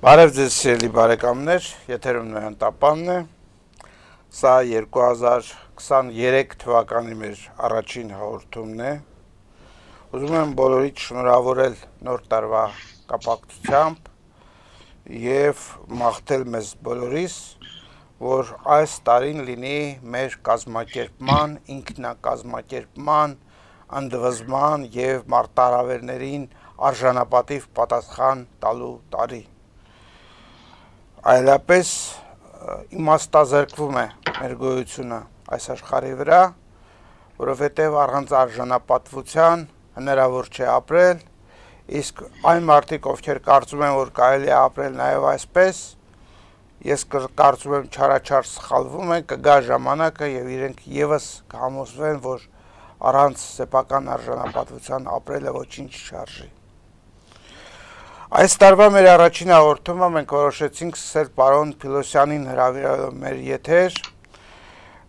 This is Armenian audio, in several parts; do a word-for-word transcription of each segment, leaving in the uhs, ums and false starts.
Բարև ձեզ սիրելի բարեկամներ, եթերում Նոյան Տապանն է, սա երկու հազար քսաներեք թվականի մեր առաջին հաղորդումն է, ուզում եմ բոլորիդ շնորհավորել նոր տարվա կապակցությամբ և մաղթել մեզ բոլորիս, որ այս տարին լինի մեր կազմակերպման, ինքնակազմակերպման, ընդվզման և մարտահրավերներին արժանապատիվ պատասխան տալու տարի։ Այլապես իմաստազրկվում է մեր գոյությունը այս աշխարհի վրա, որովհետև առանց արժանապատվության հնարավոր չէ ապրել, իսկ այն մարդիկ, ովքեր կարծում են, որ կարելի է ապրել նաև այսպես, ես կարծում եմ չարաչար սխալվում են, կգա ժամանակը և իրենք ևս կհամոզվեն, որ առանց սեփական արժանապատվության ապրելը ոչինչ չարժի։ Այս տարվա մեր առաջին հաղորդումը մենք որոշեցինք սկսել պարոն Փիլոսյանին հրավիրելով մեր եթեր,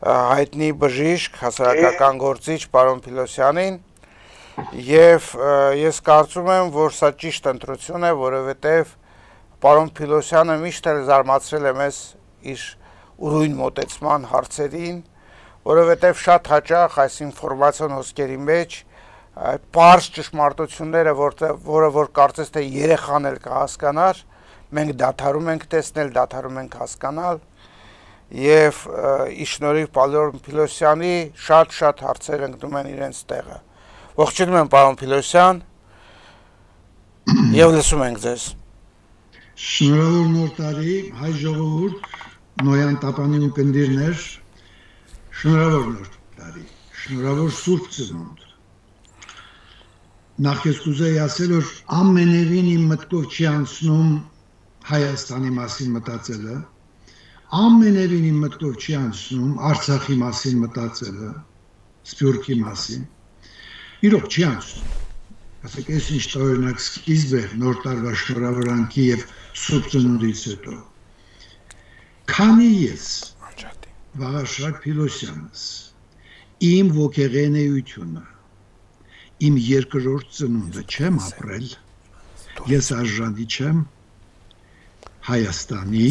հայտնի բժիշկ, հասարակական գործիչ պարոն Փիլոսյանին, և ես կարծում եմ, որ սա ճիշտ ընտրություն է, որովհետև պարոն Փիլոսյանը միշտ էլ զարմացրել է մեզ իր ուրույն մոտեցման հարցերին, որովհետև շատ հաճախ այս ինֆորմացիոն հոսքերի մեջ պարզ ճշմարտությունները, որը որ կարծես թե երեխան էլ կհասկանար, մենք դադարում ենք տեսնել, դադարում ենք հասկանալ և ի շնորհիվ պարոն Փիլոսյանի շատ-շատ հարցեր ընկնում են իրենց տեղը։ Ողջունում եմ պարոն Փիլոսյան և լսում ենք ձեզ։ Շնորհավոր նոր տարի, հայ ժողովուրդ, Նոյան Տապանի ունկնդիրներ, շնորհավոր նոր տարի, շնորհավոր Սուրբ Ծնունդ։ Նախ ես կուզեի ասել, որ ամենևին իմ մտքով չի անցնում Հայաստանի մասին մտածելը, ամենևին իմ մտքով չի անցնում Արցախի մասին մտածելը, Սփյուռքի մասին, իրոք չի անցնում։ Ասեք, ես ինչ տարօրինակ սկիզբ է նոր տարվա շնորհավորանքի և Սուրբ Ծնունդից հետո։ Քանի ես Վաղարշակ Փիլոսյանս իմ ոգեղենեությունը, իմ երկրորդ ծնունդը չեմ ապրել, ես արժանի չեմ Հայաստանի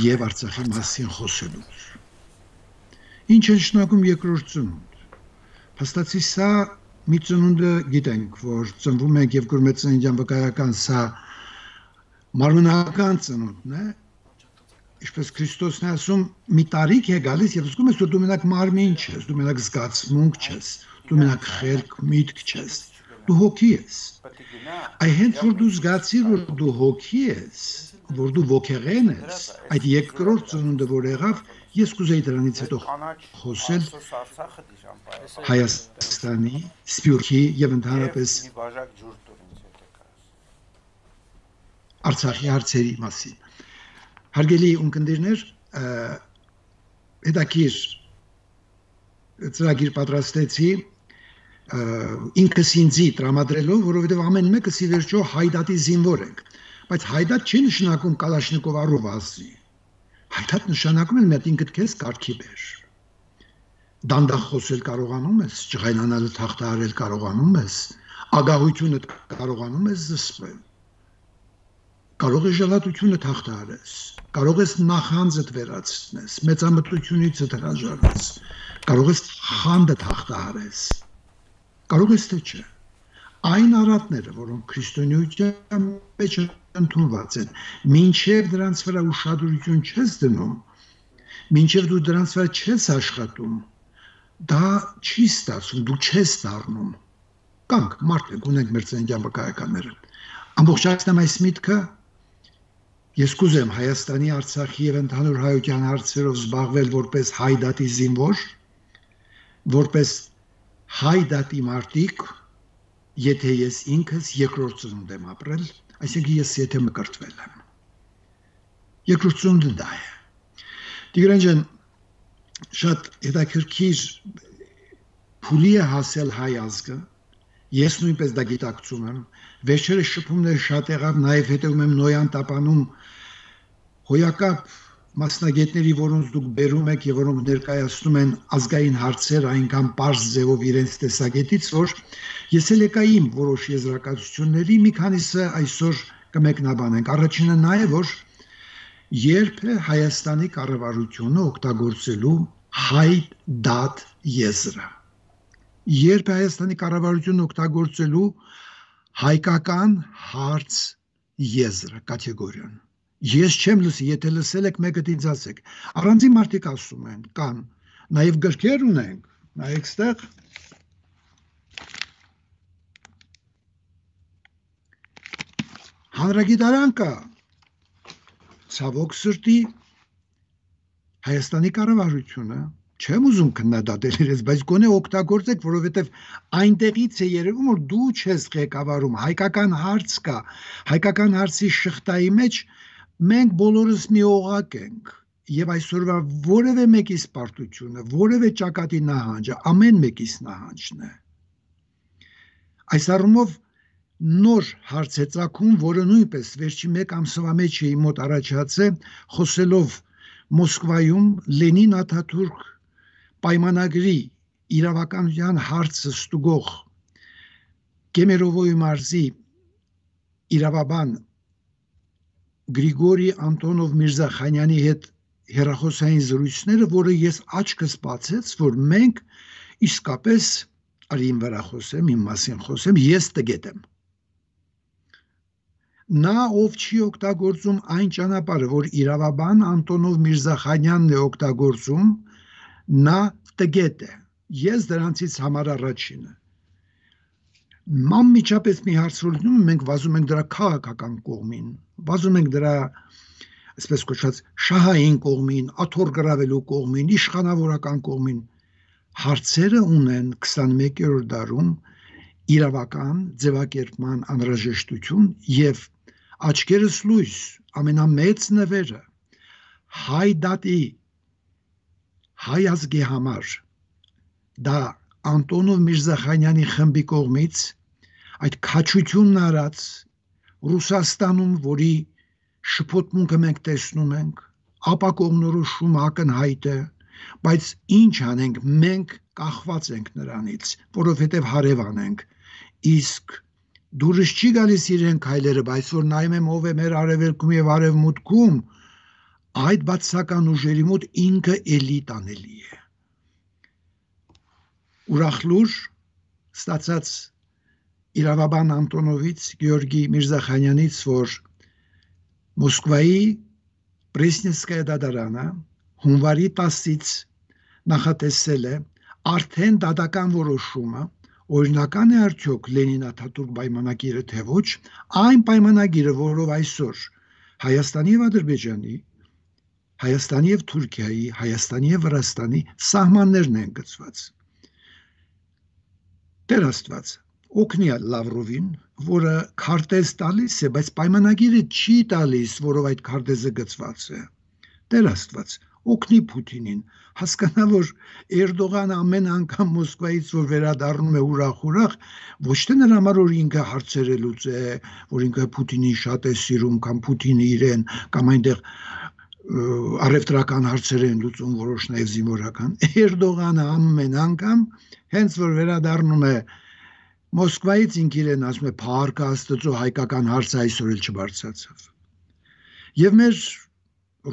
և Արցախի մասին խոսելուց։ Ինչ է նշանակում երկրորդ ծնունդ։ Փաստացի սա մի ծնունդը գիտենք, որ ծնվում ենք և կրում է ծննդյան վկայական, սա մարմնական ծնունդն է, ինչպես Քրիստոսն է ասում, մի տարիք է գալիս և զգում ես, որ դու մենակ մարմին չես, դու մենակ զգացմունք չես, դու մենակ խելք միտք չես, դու հոգի ես։ Այ հենց որ դու զգացիր, որ դու հոգի ես, որ դու ոգեղեն ես, այդ երկրորդ ծնունդը որ եղավ, ես կուզեի դրանից հետո խոսել Հայաստանի, Սփյուռքի և ընդհանրապես Արցախի հարցերի մասին։ Հարգելի ունկնդիրներ, հետաքրքիր ծրագիր պատրաստեցի ինքս ինձի տրամադրելով, որովհետև ամեն մեկս ի վերջո հայդատի զինվոր ենք, բայց հայդատ չի նշանակում կալաշնիկով առով ազդի, հայդատ նշանակում են մետ ինքդ քեզ կարգի բեր, դանդաղ խոսել կարողանում ես, ջղայնանալը թախտահարել կարողանում ես, ագահությունդ կարողանում ես զսպել, կարող ես ժլատությունը թախտահարես, կարող ես նախանձդ վերացնես, մեծամտությունիցդ հրաժարվես, կարող ես խանդը թախտահարես, կարող ես թե չէ, այն առատները, որոնք քրիստոնեության մեջ ընդունված են, մինչև դրանց վրա ուշադրություն չես դնում, մինչև դու դրանց վրա չես աշխատում, դա չի ստացվում, դու չես դառնում, կանք մարդ ենք, ունենք մեր ծննդյան վկայականները, ամբողջացնեմ այս միտքը, ես կուզեմ Հայաստանի, Արցախի և ընդհանուր հայության հարցերով զբաղվել որպես հայդատի զինվոր, որպես հայդատի մարտիկ, եթե ես ինքս երկրորդ ծնունդ եմ ապրել, այսինքն ես եթե մկրտվել եմ։ Երկրորդ ծնունդը դա է։ Տիգրան ջան, շատ հետաքրքիր փուլի է հասել հայ ազգը, ես նույնպես դա գիտակցում եմ, վերջերս շփումներ շատ եղավ, նաև հետևում եմ Նոյան Տապանում հոյակապ մասնագետների, որոնց դուք բերում եք և որոնք ներկայացնում են ազգային հարցեր այնքան պարզ ձևով իրենց տեսակետից, որ ես էլ եկա իմ որոշ եզրակացությունների, մի քանիսը այսօր կմեկնաբանենք։ Առաջինը նա է, որ երբ է Հայաստանի կառավարությունը օգտագործելու հայ դատ եզրը։ Երբ է Հայաստանի կառավարությունը օգտագործելու հայկական հարց եզրը, կատեգորիան։ Ես չեմ լսի, եթե լսել եք, մեկը ինձ ասեք։ Առանձին մարդիկ ասում են, կան, նաև գրքեր ունենք, նայեք ստեղ։ Հանրագիտարան կա, ցավոք սրտի, Հայաստանի կառավարությունը, չեմ ուզում քննադատել իրենց, բայց գոնե օգտագործեք, որովհետև այնտեղից է երևում, որ դու չես ղեկավարում, հայկական հարց կա, հայկական հարցի շղթայի մեջ մենք բոլորս մի օղակ ենք, եւ այսօրվա որևէ մեկիս պարտությունը, որևէ ճակատի նահանջը, ամեն մեկիս նահանջն է։ Այս առումով նոր հարց է ծագում, որը նույնպես վերջի մեկ ամսվա մեջ է մոտ առաջացել, խոսելով Մոսկվայում Լենին Աթաթուրք պայմանագրի իրավականության հարցը ստուգող Կեմերովոյի մարզի իրավաբան Գրիգորի Անտոնով Միրզախանյանի հետ հեռախոսային զրույցները, որը ես աչքս բացեց, որ մենք իսկապես արի իմ վրա խոսեմ, իմ մասին խոսեմ, ես տգետ եմ։ Նա ով չի օգտագործում այն ճանապարհը, որ իրավաբան Անտոնով Միրզախանյանն է օգտագործում, նա տգետ է։ Ես դրանցից համար առաջինը։ Անմիջապես մի հարց լուծում, մենք վազում ենք դրա քաղաքական կողմին, վազում ենք դրա, այսպես կոչված, շահային կողմին, աթոռ գրավելու կողմին, իշխանավորական կողմին։ Հարցերը ունեն քսանմեկերորդ դարում իրավական ձևակերպման անհրաժեշտություն եւ աչքերս լույս ամենամեծ նվերը հայ դատի հայ ազգի համար դա Անտոնով Միրզախանյանի խմբի կողմից այդ քաչությունն արած Ռուսաստանում, որի շփոթմունքը մենք տեսնում ենք, ապա կողմնորոշումը ակնհայտ է, բայց ինչ անենք, մենք կախված ենք նրանից, որովհետև հարևան ենք, իսկ դուրս չի գալիս իրեն քայլերը, բայց որ նայում եմ ով է մեր արևելքում եւ արևմուտքում, այդ բացական ուժերի մոտ ինքը էլի տանելի է։ Ուրախ լուր ստացած իրավաբան Անտոնովից, Գեորգի Միրզախանյանից, որ Մոսկվայի Պրեսնենսկայա դատարանը հունվարի տասից նախատեսել է արդեն դատական որոշումը, օրինական է արդյոք Լենին Աթաթուրք պայմանագիրը թե ոչ, այն պայմանագիրը, որով այսօր Հայաստանի եւ Ադրբեջանի, Հայաստանի եւ Թուրքիայի, Հայաստանի եւ Վրաստանի սահմաններն են գծված։ Տեր Աստված, օգնի Լավրովին, որը քարտեզ տալիս է, բայց պայմանագիրը չի տալիս, որով այդ քարտեզը գծված է։ Տեր Աստված, օգնի Պուտինին, հասկանա, որ Էրդողանը ամեն անգամ Մոսկվայից որ վերադառնում է ուրախ-ուրախ, ոչ թե նրա համար որ ինքը հարցերը լուծե, որ ինքը Պուտինին շատ է սիրում, կամ Պուտինը իրեն, կամ այնտեղ առևտրական հարցեր են լուծում, որոշ նաև զինվորական։ Էրդողանը ամեն անգամ հենց որ վերադառնում է Մոսկվայից, ինքը իրեն ասում է «Փառք Աստծո, հայկական հարցը այսօր էլ չբարձրացավ»։ Եվ մեր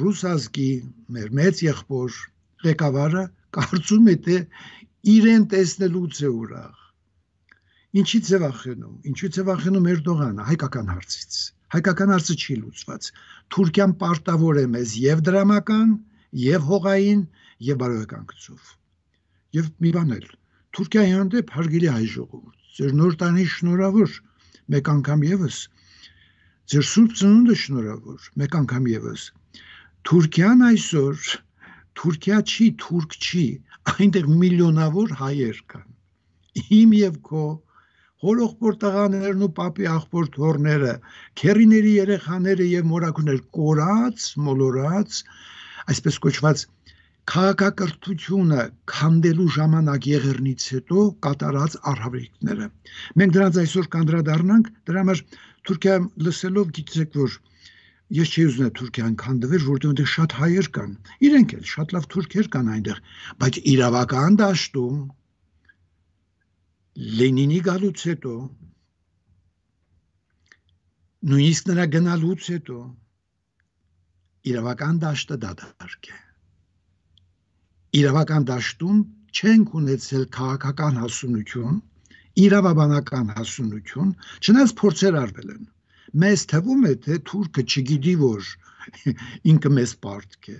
ռուս ազգի, մեր մեծ եղբոր ղեկավարը կարծում է, թե իրեն տեսնելուց է ուրախ։ Ինչից է վախենում, ինչից է վախենում Էրդողանը, հայկական հարցից։ Հայկական հարցը չի լուծված։ Թուրքիան պարտավոր է մեզ եւ դրամական, եւ հողային, եւ բարոյական գծով։ Եվ մի բան էլ, Թուրքիայի հանդեպ հարգելի հայ ժողովուրդ, ձեր նոր տանի շնորհավոր, մեկ անգամ եւս, ձեր սուրբ ծնունդը շնորհավոր, մեկ անգամ եւս։ Թուրքիան այսօր Թուրքիա չի, թուրք չի, այնտեղ միլիոնավոր հայեր կան։ Իմ եւ քո հորողբոր տղաներն ու պապի աղբոր թորները, քերիների երեխաները եւ մորաքուներ կորած, մոլորած, այսպես կոչված քաղաքակրթությունը քանդելու ժամանակ եղերնից հետո կատարած արհավիրքները։ Մենք դրանց այսօր կանդրադառնանք, դրա համար Թուրքիա լսելով գիտեք, որ ես չի ուզում Թուրքիան քանդվեր, որտեղ այնտեղ շատ հայեր կան։ Իրենք էլ շատ լավ թուրքեր կան այնտեղ, բայց իրավական դաշտում Լենինի գալուց հետո նույնիսկ նրա գնալուց հետո իրավական դաշտը դադարք է։ Իրավական դաշտում չենք ունեցել քաղաքական հասունություն, իրավաբանական հասունություն, չնայած փորձեր արվել են։ Մեզ թվում է, թե թուրքը չգիտի, որ ինքը մեզ պարտք է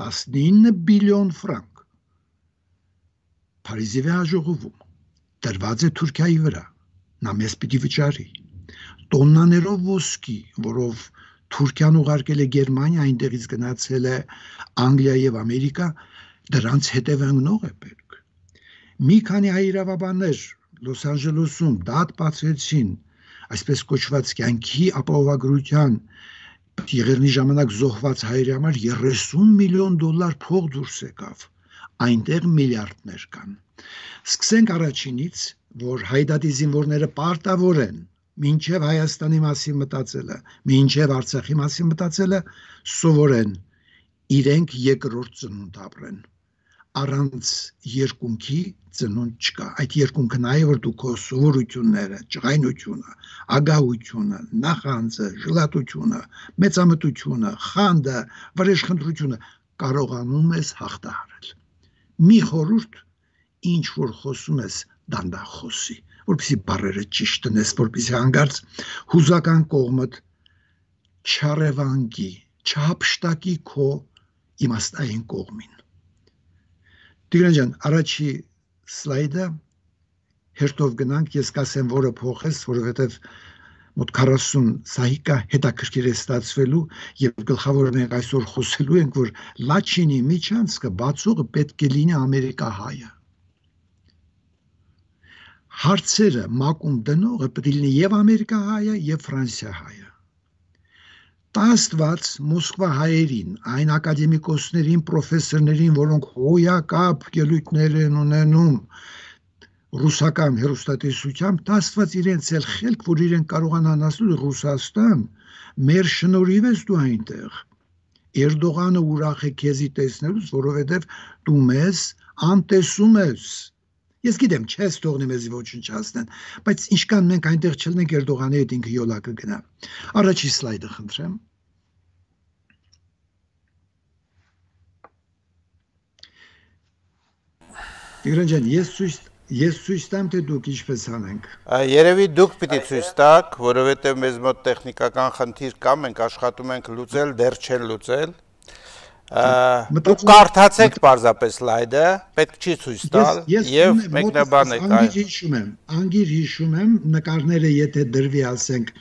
տասնինը բիլիոն ֆրանկ Փարիզի հաջողվում դրված է Թուրքիայի վրա, նա մեզ պիտի վճարի տոննաներով ոսկի, որով Թուրքիան ուղարկել է Գերմանիա, այնտեղից գնացել է Անգլիա եւ Ամերիկա, դրանց հետևանքնող է պետք։ Մի քանի հայ իրավաբաններ Լոս Անջելեսում դատ բացեցին այսպես կոչված կյանքի ապահովագրության եղերնի ժամանակ զոհված հայերի համար երեսուն միլիոն դոլար փող դուրս եկավ, այնտեղ միլիարդներ կան։ Սկսենք առաջինից, որ հայդատի զինվորները պարտավոր են մինչև Հայաստանի մասին մտածելը, մինչև Արցախի մասին մտածելը սովորեն իրենք երկրորդ ծնունդ ապրեն։ Առանց երկունքի ծնունդ չկա։ Այդ երկունքը նա է, որ դու քո սովորությունները, ջղայնությունը, ագահությունը, նախանձը, ժլատությունը, մեծամտությունը, խանդը, վրեժխնդրությունը կարողանում ես հաղթահարել։ Մի խորհուրդ, ինչ որ խոսում ես, դանդաղ խոսի, որպեսզի բառերը ճիշտ տնես, որպեսզի հանկարծ հուզական կողմդ չառևանգի, չհափշտակի քո իմաստային կողմին։ Տիգրան ջան, առաջի սլայդը հերթով գնանք, ես կասեմ, որը փոխես, որովհետև մոտ քառասուն սահիկա հետաքրքիր է ստացվելու եւ գլխավորը մենք այսօր խոսելու ենք, որ Լաչինի միջանցքը բացողը պետք է լինի ամերիկահայը։ Հարցերը մակում դնողը պետք է լինի եւ ամերիկահայը եւ ֆրանսիահայը։ Տաստված Մոսկվա հայերին, այն ակադեմիկոսներին, պրոֆեսորներին, որոնք հոյակապ ելույթներ են ունենում ռուսական հեռուստատեսությամբ, տաստված իրենց էլ խելք, որ իրենք կարողանան ասել Ռուսաստան, մեր շնորհիվ ես դու այնտեղ։ Էրդողանը ուրախ է քեզի տեսնելուց, որովհետև դու մեզ անտեսում ես։ Ես գիտեմ, չես թողնի մեզի ոչնչացնեն, բայց ինչքան մենք այնտեղ չլինենք, Էրդողանի հետ ինքը յոլա կգնա։ Առաջի սլայդը խնդրեմ։ Տիգրան ջան, ես ցույց ես ցույց տամ, թե դուք ինչպես անենք։ Երևի դուք պիտի ցույց տաք, որովհետև մեզ մոտ տեխնիկական խնդիր կա, մենք աշխատում ենք լուծել, դեռ չեն լուծել։ Դուք կարդացեք պարզապես սլայդը, պետք չի ցույց տալ եւ մեկնաբանեք այն։ Անգիր հիշում եմ, անգիր հիշում եմ նկարները, եթե դրվի, ասենք,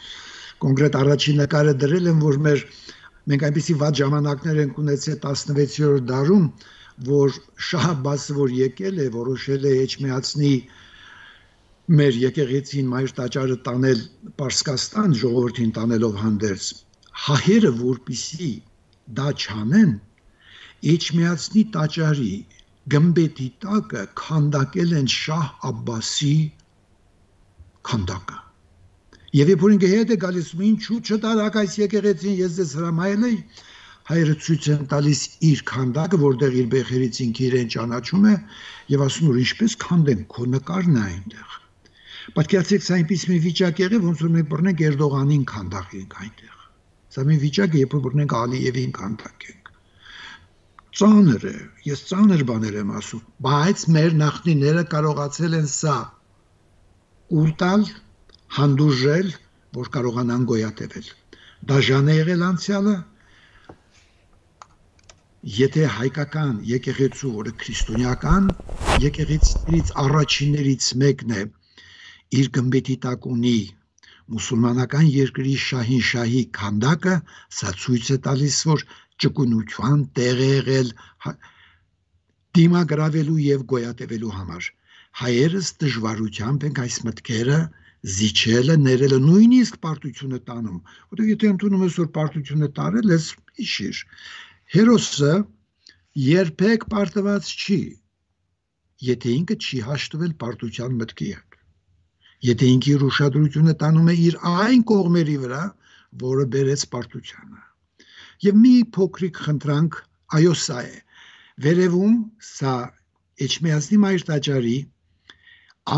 կոնկրետ առաջին նկարը դրել եմ, որ մեր մենք այնպեսի վատ ժամանակներ ենք ունեցել տասնվեցերորդ դարում, որ Շահ Աբբասը, որ եկել է, որոշել է Էջմիածնի մեր եկեղեցին մայր տաճարը տանել Պարսկաստան, ժողովրդին տանելով հանդերձ, հահերը որպիսի դա չանեն, Էջմիածնի տաճարի գմբեթի տակը քանդակել են Շահ Աբբասի քանդակը։ Եվ երբ որ ինքը հետ է գալիս, ինչու չտարակ այս եկեղեցին, ես ձեզ հրամայել էի, հայերը ցույց են տալիս իր քանդակը, որտեղ իր բեխերից ինքը իրեն ճանաչում է եւ ասում որ ինչպես քանդեն, քո նկարն է այնտեղ։ Պատկերացրեք, սա այնպես մի վիճակ եղավ, ոնց որ մենք բռնենք Էրդողանին քանդակենք այնտեղ։ Սա մի վիճակ է, երբ որ բռնենք Ալիևին քանդակենք։ Ծանր է, ես ծանր բաներ եմ ասում, բայց մեր նախնիները կարողացել են սա ուտալ, հանդուրժել, որ կարողանան գոյատևել։ Դաժան է եղել անցյալը, եթե հայկական եկեղեցու, որը քրիստոնեական եկեղեցիներից առաջիններից մեկն է, իր գմբեթի տակ ունի մուսուլմանական երկրի շահին շահի քանդակը, սա ցույց է տալիս, որ ճկունության տեղ է եղել դիմագրավելու եւ գոյատևելու համար։ Հայերս դժվարությամբ ենք այս մտքերը զիջելը, ներելը, նույնիսկ պարտությունը տանում, որտեղ եթե ընդունում ես, որ պարտությունը տարել ես, հիշիր, հերոսը երբեք պարտված չի, եթե ինքը չի հաշտվել պարտության մտքի հետ, եթե ինքը իր ուշադրությունը տանում է իր այն կողմերի վրա, որը բերեց պարտությանը։ Եվ մի փոքրիկ խնդրանք, այո, սա է, վերևում սա Էջմիածնի մայր տաճարի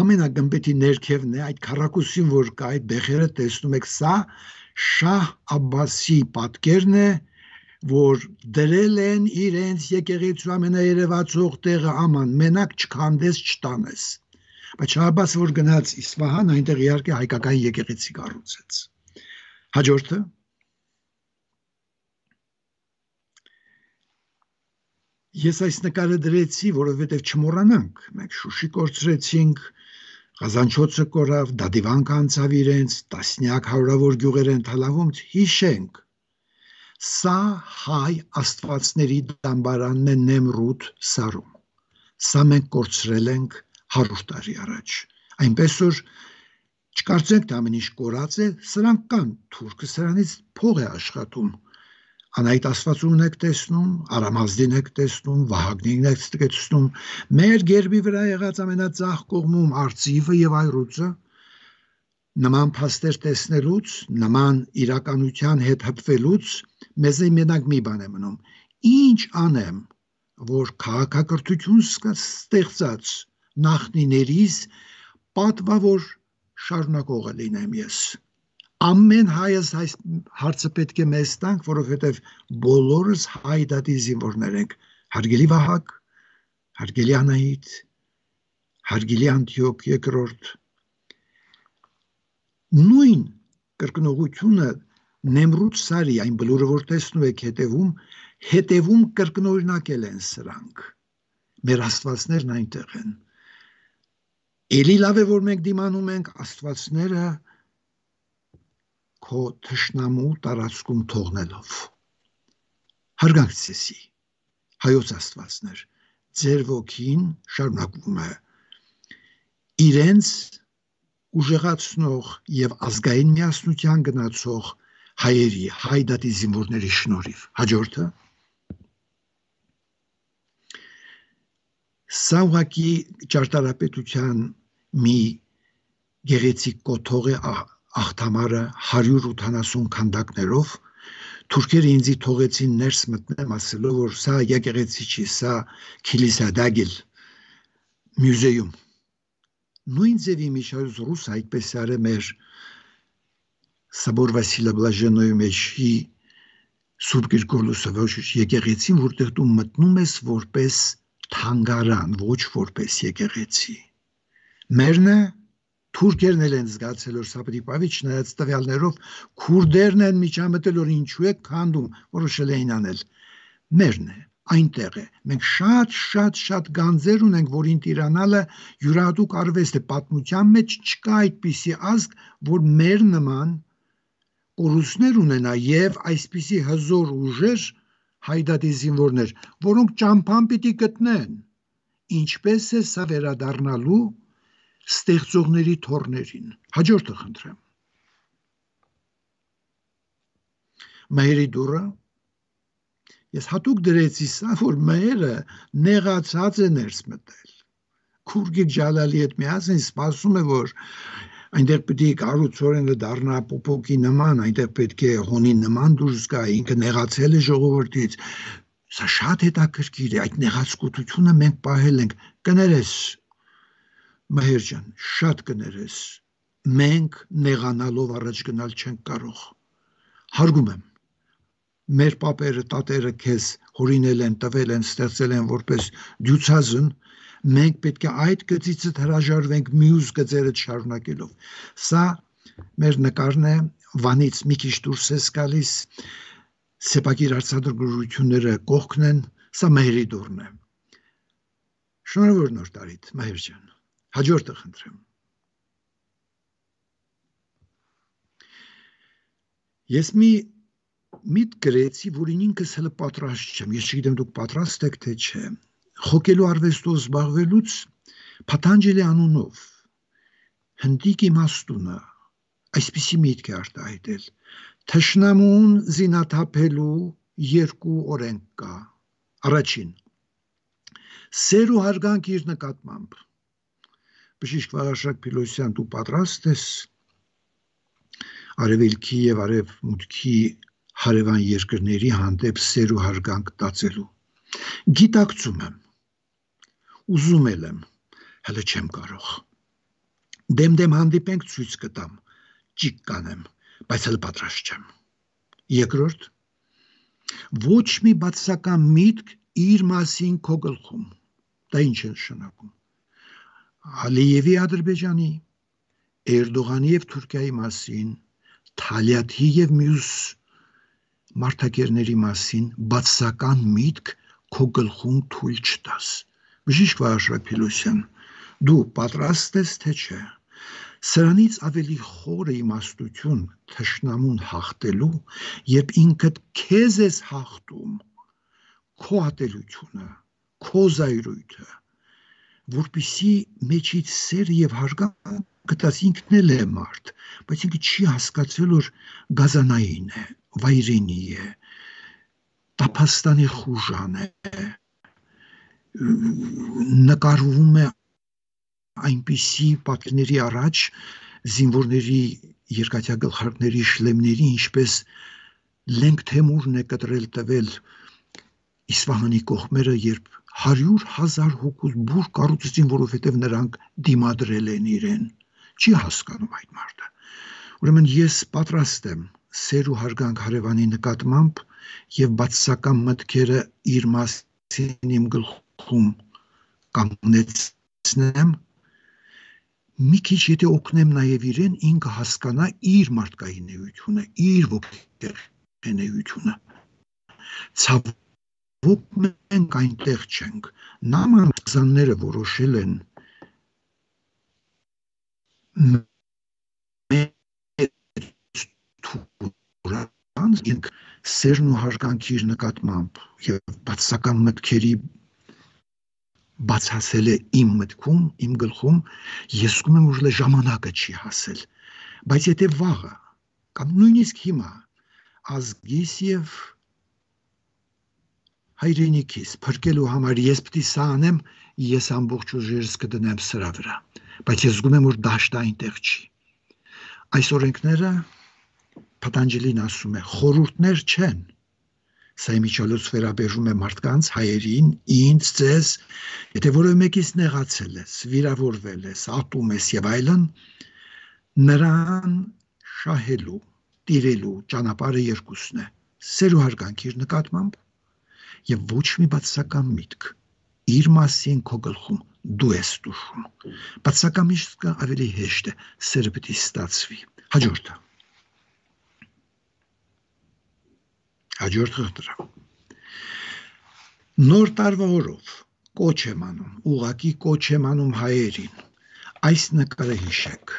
ամենագմբեթի ներքևն է, այդ քառակուսին, որ կա, այդ բեխերը տեսնում եք, սա Շահ Աբբասի պատկերն է, որ դրել են իրենց եկեղեցու ամենաերևացող տեղը աման, մենակ չքանդես չտանես։ Բայց Շահ Աբբասը, որ գնաց Իսվահան, այնտեղ իհարկե հայկական եկեղեցի կառուցեց։ Հաջորդը Ես այս նկարը դրեցի, որովհետև չմոռանանք, մենք Շուշի կորցրեցինք, Ղազանչոցը կորավ, Դադիվանքը անցավ իրենց, տասնյակ հարյուրավոր գյուղեր են թալավում, հիշենք։ Սա հայ աստվածների դամբարանն է Նեմրութ սարում։ Սա մենք կորցրել ենք հարյուր տարի առաջ։ Այնպես որ չկարծենք թե ամեն ինչ կորած է, սրանք կան, թուրքը սրանից փող է աշխատում։ Անայդ աստվածումն եք տեսնում, Արամազդին եք տեսնում, Վահագնին եք տեսնում, մեր գերբի վրա եղած ամենածախ կողմում արծիվը եւ այրուծը, նման փաստեր տեսնելուց, նման իրականության հետ հպվելուց, մեզ մենակ մի բան է մնում. ինչ անեմ, որ քաղաքակրթություն ստեղծած նախնիներից պատվավոր շարունակողը լինեմ ես։ Ամեն հայս այս հարցը պետք է մեզ տանք, որովհետև բոլորս հայ դատի զինվորներ ենք, հարգելի Վահագ, հարգելի Անահիտ, հարգելի Անտիոք երկրորդ։ Նույն կրկնողությունը Նեմրութ սարի, այն բլուրը, որ տեսնում եք հետևում, հետևում կրկնօրինակել են սրանք։ Մեր աստվածներն այնտեղ են։ Էլի լավ է, որ մենք դիմանում ենք աստվածները քո թշնամու տարածքում թողնելով։ Հարգանք ցեսի, հայոց աստվածներ, ձեր ոգին շարունակվում է իրենց ուժեղացնող եւ ազգային միասնության գնացող հայերի, հայ դատի զինվորների շնորհիվ։ Հաջորդը սա ուղղակի ճարտարապետության մի գեղեցիկ կոթող է աղթամարը հարյուր ութանասուն քանդակներով, թուրքերը ինձ թողեցին ներս մտնեմ ասելով, որ սա եկեղեցի չի, սա Քիլիսա դագիլ մյուզեում։ Նույն ձևի միջազգ ռուս այդպես արը մեր Սաբոր Վասիլը Բլաժենոյի մեջի Սուրբ Գրգորլոսը ոչ եկեղեցին, որտեղ դու մտնում ես որպես թանգարան, ոչ որպես եկեղեցի։ Մերնը թուրքերն են զգացել, որ սա պետք է պավի, չնայած տվյալներով քուրդերն են միջամտել, որ ինչու է քանդում, որոշել էին անել։ Մերն է, այնտեղ է։ Մենք շատ շատ շատ գանձեր ունենք, որին տիրանալը յուրահատուկ արվեստ է, պատմության մեջ չկա այդպիսի ազգ, որ մեր նման կորուստներ ունենա եւ այսպիսի հզոր ուժեր հայդատի զինվորներ, որոնք ճամփան պիտի գտնեն, ինչպես է սա վերադառնալու ստեղծողների թորներին։ Հաջորդը խնդրեմ։ Մայրի դուրը, ես հատուկ դրեցի սա, որ մայրը նեղացած է ներս մտել։ Քուրգիկ Ջալալի հետ միասին սպասում է, որ այնտեղ պետք է կառուցորենը դառնա պոպոկի նման, այնտեղ պետք է հոնի նման դուրս գա, ինքը նեղացել է ժողովրդից։ Սա շատ հետաքրքիր է, այդ նեղացկությունը մենք պահել ենք։ Կներես, Մահեր ջան, շատ կներես, մենք նեղանալով առաջ գնալ չենք կարող։ Հարգում եմ, մեր պապերը, տատերը քեզ հորինել են, տվել են, ստեղծել են որպես դյուցազն, մենք պետք է այդ գծիցդ հրաժարվենք մյուս գծերը շարունակելով։ Սա մեր նկարն է, Վանից մի քիչ դուրս ես գալիս, սեպագիր արձադրությունները կողքն են, սա Մահերի դուռն է։ Շնորհավոր նոր տարիդ, Մահեր ջան։ Հաջորդը խնդրեմ։ Ես մի միտ գրեցի, որին ինքս հələ պատրաստ չեմ, ես չգիտեմ դուք պատրաստ եք թե չէ, խոկելու արվեստով զբաղվելուց Փաթանջելի անունով հնդիկ իմաստունը այսպիսի միտք է արտահայտել. թշնամուն զինաթափելու երկու օրենք կա։ Առաջին, սեր ու հարգանք իր նկատմամբ։ Բժիշկ Վաղարշակ Փիլոսյան, դու պատրաստ ես արևելքի եւ արևմուտքի հարևան երկրների հանդեպ սեր ու հարգանք տածելու։ Գիտակցում եմ, ուզում եմ, հələ չեմ կարող։ Դեմ-դեմ հանդիպենք, ցույց կտամ, ճիք կանեմ, բայց էլ պատրաստ չեմ։ Երկրորդ, ոչ մի բացական միտք իր մասին քո գլխում։ Դա ինչ է նշանակում։ Ալիևի Ադրբեջանի, Էրդողանի եւ Թուրքիայի մասին, Թալյաթի եւ մյուս մարդակերների մասին բացական միտք քո գլխում թույլ չտաս։ Բժիշկ Վարշակ Փիլոսյան, դու պատրաստ ես թե չէ։ Սրանից ավելի խորը իմաստություն թշնամուն հաղթելու, երբ ինքդ քեզ ես հաղթում, քո ատելությունը, քո զայրույթը, որպիսի մեջից սեր եւ հարգանք գտած ինքն էլ է մարդ, բայց ինքը չի հասկացել, որ գազանային է, վայրենի է, տափաստանի խուժան է, նկարվում է այնպիսի պատկերների առաջ զինվորների երկաթյա շլեմների, ինչպես Լենք Թեմուրն է կտրել տվել Իսվահանի կողմերը, երբ հարյուր հազար հոգուց բուր կառուցեցին, որովհետև նրանք դիմադրել են իրեն։ Չի հասկանում այդ մարդը։ Ուրեմն ես պատրաստ եմ սեր ու հարգանք հարևանի նկատմամբ եւ բացասական մտքերը իր մասին իմ գլխում կանգնեցնեմ, մի քիչ եթե օգնեմ նաև իրեն, ինքը հասկանա իր մարդկային էությունը, իր ոգեկան էությունը։ Ցավոք մենք այնտեղ չենք։ Նամանզանները որոշել են մենք սերն ու հարգանքի իր նկատմամբ եւ բացասական մտքերի բացասել է իմ մտքում, իմ գլխում, ես զգում եմ, որ ժամանակը չի հասել, բայց եթե վաղը կամ նույնիսկ հիմա ազգիս եւ հայրենիքիս փրկելու համար ես պիտի սա անեմ, ես ամբողջ ուժերս կդնեմ սրա վրա, բայց ես զգում եմ, որ դաշտը այնտեղ չի։ Այս օրենքները Փաթանջելին ասում է, խորհուրդներ չեն։ Սա իմիջիալոց վերաբերում է մարդկանց, հայերին, ինձ, ձեզ, եթե որևէ մեկից նեղացել ես, վիրավորվել ես, ատում ես եւ այլն, նրան շահելու, տիրելու ճանապարհը երկուսն է՝ սեր ու հարգանք իր նկատմամբ եւ ոչ մի բացասական միտք իր մասին քո գլխում դու ես տուժում։ Բացասական միտքը ավելի հեշտ է, սերը պիտի ստացվի։ Հաջորդը Հաջորդ խնդրը։ Նոր տարվա օրով կոչ եմ անում, ուղղակի կոչ եմ անում հայերին։ Այս նկարը հիշեք։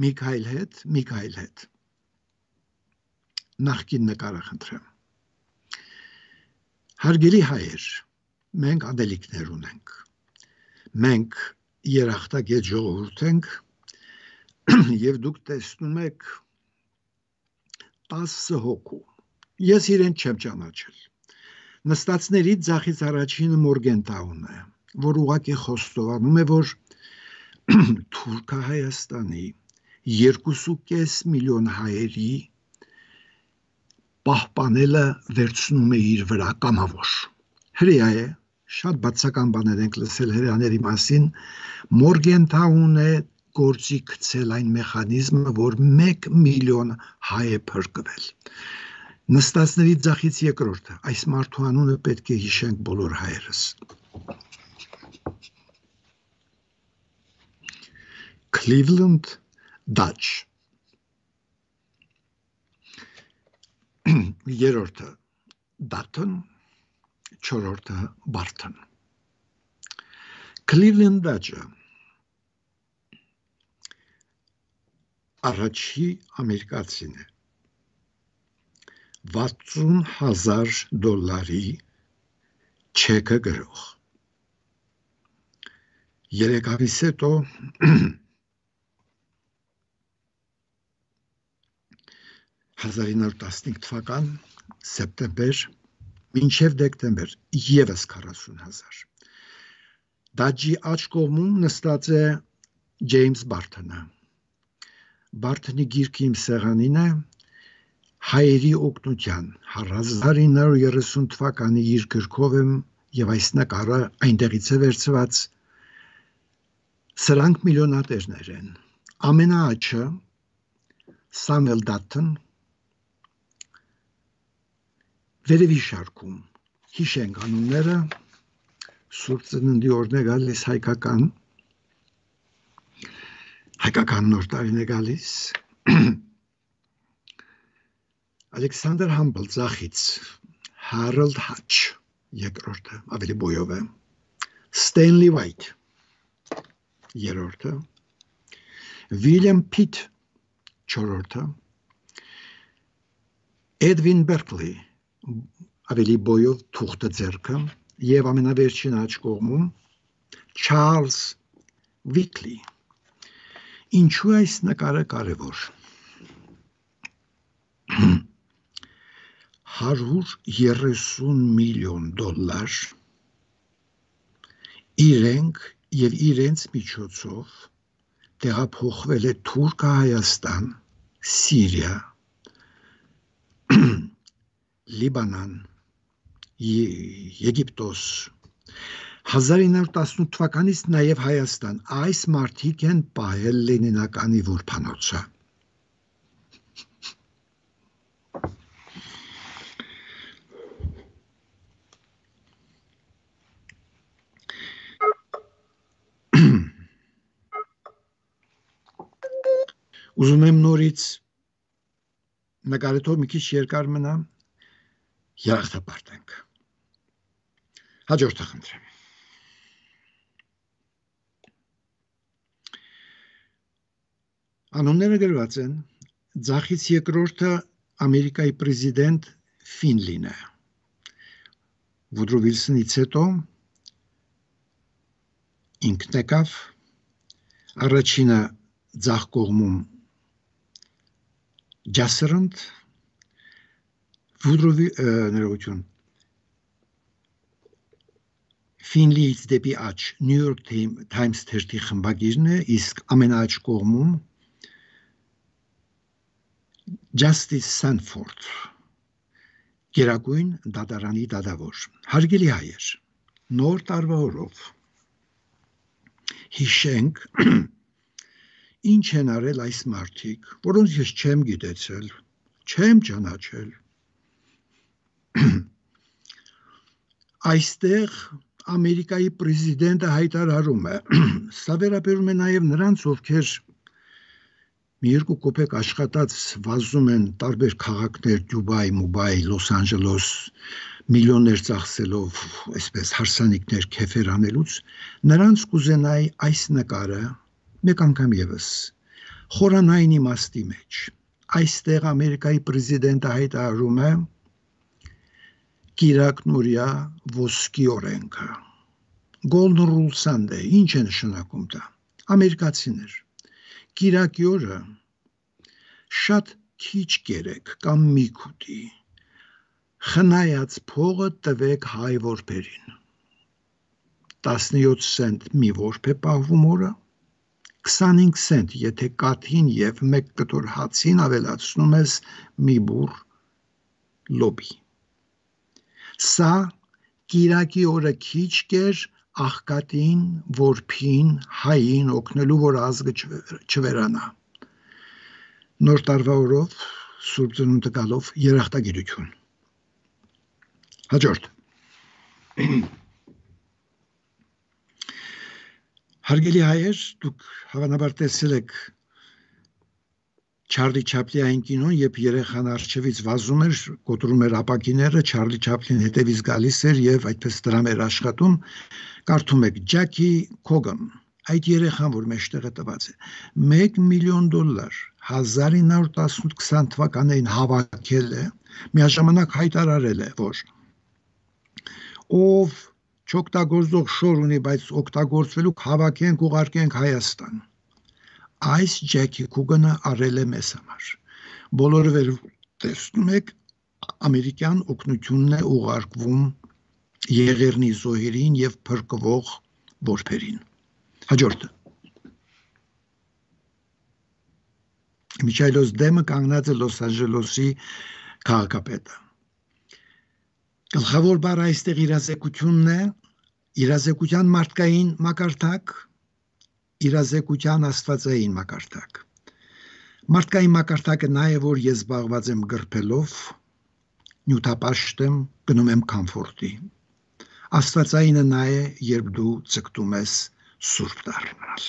Միքայել հետ, Միքայել հետ։ Նախկին նկարը խնդրեմ։ Հարգելի հայեր, մենք ադելիքներ ունենք։ Մենք երախտագետ ժողովուրդ ենք եւ դուք տեսնում եք տասը հոգու։ Ես իրեն չեմ ճանաչել։ Նստածներից ձախից առաջինը Մորգենտաուն է, որ ուղղակի խոստովանում է, որ Թուրքահայաստանի երկու կես միլիոն հայերի պահպանելը վերցնում է իր վրա կամավոր։ Հրեա է, շատ բացական բաներ ենք լսել հրեաների մասին, Մորգենտաուն է գործի գցել այն մեխանիզմը, որ մեկ միլիոն հայ է փրկվել։ Նստածների ձախից երկրորդը, այս մարդու անունը պետք է հիշենք բոլոր հայերս։ Cleveland Dutch։ Երրորդը Dutton, չորրորդը Barton։ Cleveland Dutch-ը առաջի ամերիկացին է։ վաթսուն հազար դոլարի չեկը գրող։ Երեք ամիս հետո հազար ինը հարյուր տասնհինգ թվական սեպտեմբեր մինչև դեկտեմբեր եւս քառասուն հազար։ Դաջի աջ կողմում նստած է Ջեյմս Բարթոնը։ Բարթոնի գիրքը իմ սեղանին է հայերի օգնության հազար ինը հարյուր երեսուն թվականի իր գրքով եմ եւ այս նկարը այնտեղից է վերցված, սրանք միլիոնատերներ են։ Ամենաաճը Սամվել Դաթն վերևի շարքում հիշենք անունները Սուրբ Ծննդի օրն է գալիս հայկական հայկական նոր տարին է գալիս Ալեքսանդր Համբլ Ձախից Հարոլդ Հաչ երկրորդը ավելի բոյով է Ստենլի Վայթ երրորդը Վիլյամ Փիթ չորրորդը Էդվին Բերկլի ավելի բոյով թուղթը ձեռքը եւ ամենավերջին աջ կողմում Չարլզ Վիկլի ինչու այս նկարը կարևոր հարյուր երեսուն միլիոն դոլար իրենք եւ իրենց միջոցով տեղափոխվել է Թուրքահայաստան, Սիրիա, Լիբանան, Եգիպտոս հազար ինը հարյուր տասնութ թվականից նաև Հայաստան այս մարդիկ են պահել Լենինականի որբանոցը Ուզում եմ նորից նկարեթող մի քիչ երկար մնա երախտապարտենք հաջորդը խնդրեմ Անունները գրված են Ձախից երկրորդը Ամերիկայի պրեզիդենտ Ֆինլին է Վուդրո Վիլսոնից հետո ինքն եկավ առաջինը ձախ կողմում Ջասերընդ Վուդրո ներողություն Ֆինլիից դեպի աջ New York Times թերթի խմբագիրն է իսկ ամենաաջ կողմում Justice Sanford Գերագույն դատարանի դատավոր հարգելի հայեր նոր տարվա օրով հիշենք ինչ են արել այս մարդիկ որոնց ես չեմ գիտեցել չեմ ճանաչել այստեղ Ամերիկայի պրեզիդենտը հայտարարում է սա վերաբերում է նաև նրանց ովքեր մի երկու կոպեկ աշխատած վազում են տարբեր քաղաքներ Դուբայ, Մուբայ, Լոս Անջելոս միլիոններ ծախսելով այսպես հարսանիքներ քեֆեր անելուց նրանց կուզենայի այս նկարը մեկ անգամ եւս խորանային իմաստի մեջ այստեղ Ամերիկայի պրեզիդենտը հայտարարում է Կիրակնորյա ոսկի օրենքը Golden Rule Sunday ինչ է նշանակում դա ամերիկացիներ Կիրակի օրը շատ քիչ կերեք կամ մի քուտի խնայած փողը տվեք հայ որբերին տասնյոթ սենտ մի որբ է պահվում օրը քսանհինգ սենտ եթե կաթին եւ մեկ կտոր հացին ավելացնում ես մի բուռ լոբի սա Կիրակի օրը քիչ կեր աղքատին որբին հային օգնելու որ ազգը չվերանա նոր տարվա օրով Սուրբ Ծնունդը գալով երախտագիտություն հաջորդ Հարգելի հայեր, դուք հավանաբար տեսել եք Չարլի Չապլինի կինոն, երբ երեխան առջևից վազում էր, կոտրում էր ապակիները, Չարլի Չապլին հետևից գալիս էր եւ այդպես դրամ էր աշխատում, կարդում եք Ջակի Քոգան, այդ երեխան, որ մեջտեղը տված է, մեկ միլիոն դոլար հազար ինը հարյուր տասնութ քսան թվականներին հավաքել է, միաժամանակ հայտարարել է, որ ով չօգտագործող շոր ունի, բայց օգտագործվելու հավաքենք ուղարկենք Հայաստան։ Այս Ջեքի Քուգանը արել է մեզ համար։ Բոլորը վեր տեսնում եք, ամերիկյան օգնությունն է ուղարկվում Եղեռնի զոհերին եւ փրկվող որբերին։ Հաջորդը։ Միչայլոս դեմը կանգնած է Լոս Անջելեսի քաղաքապետը։ Գլխավոր բառը այստեղ իրազեկությունն է, իրազեկության մարդկային մակարդակ, իրազեկության աստվածային մակարդակ։ Մարդկային մակարդակը նա է, որ ես զբաղված եմ գրփելով, նյութապաշտ եմ, գնում եմ կոմֆորտի։ Աստվածայինը նա է, երբ դու ձգտում ես սուրբ դառնալ։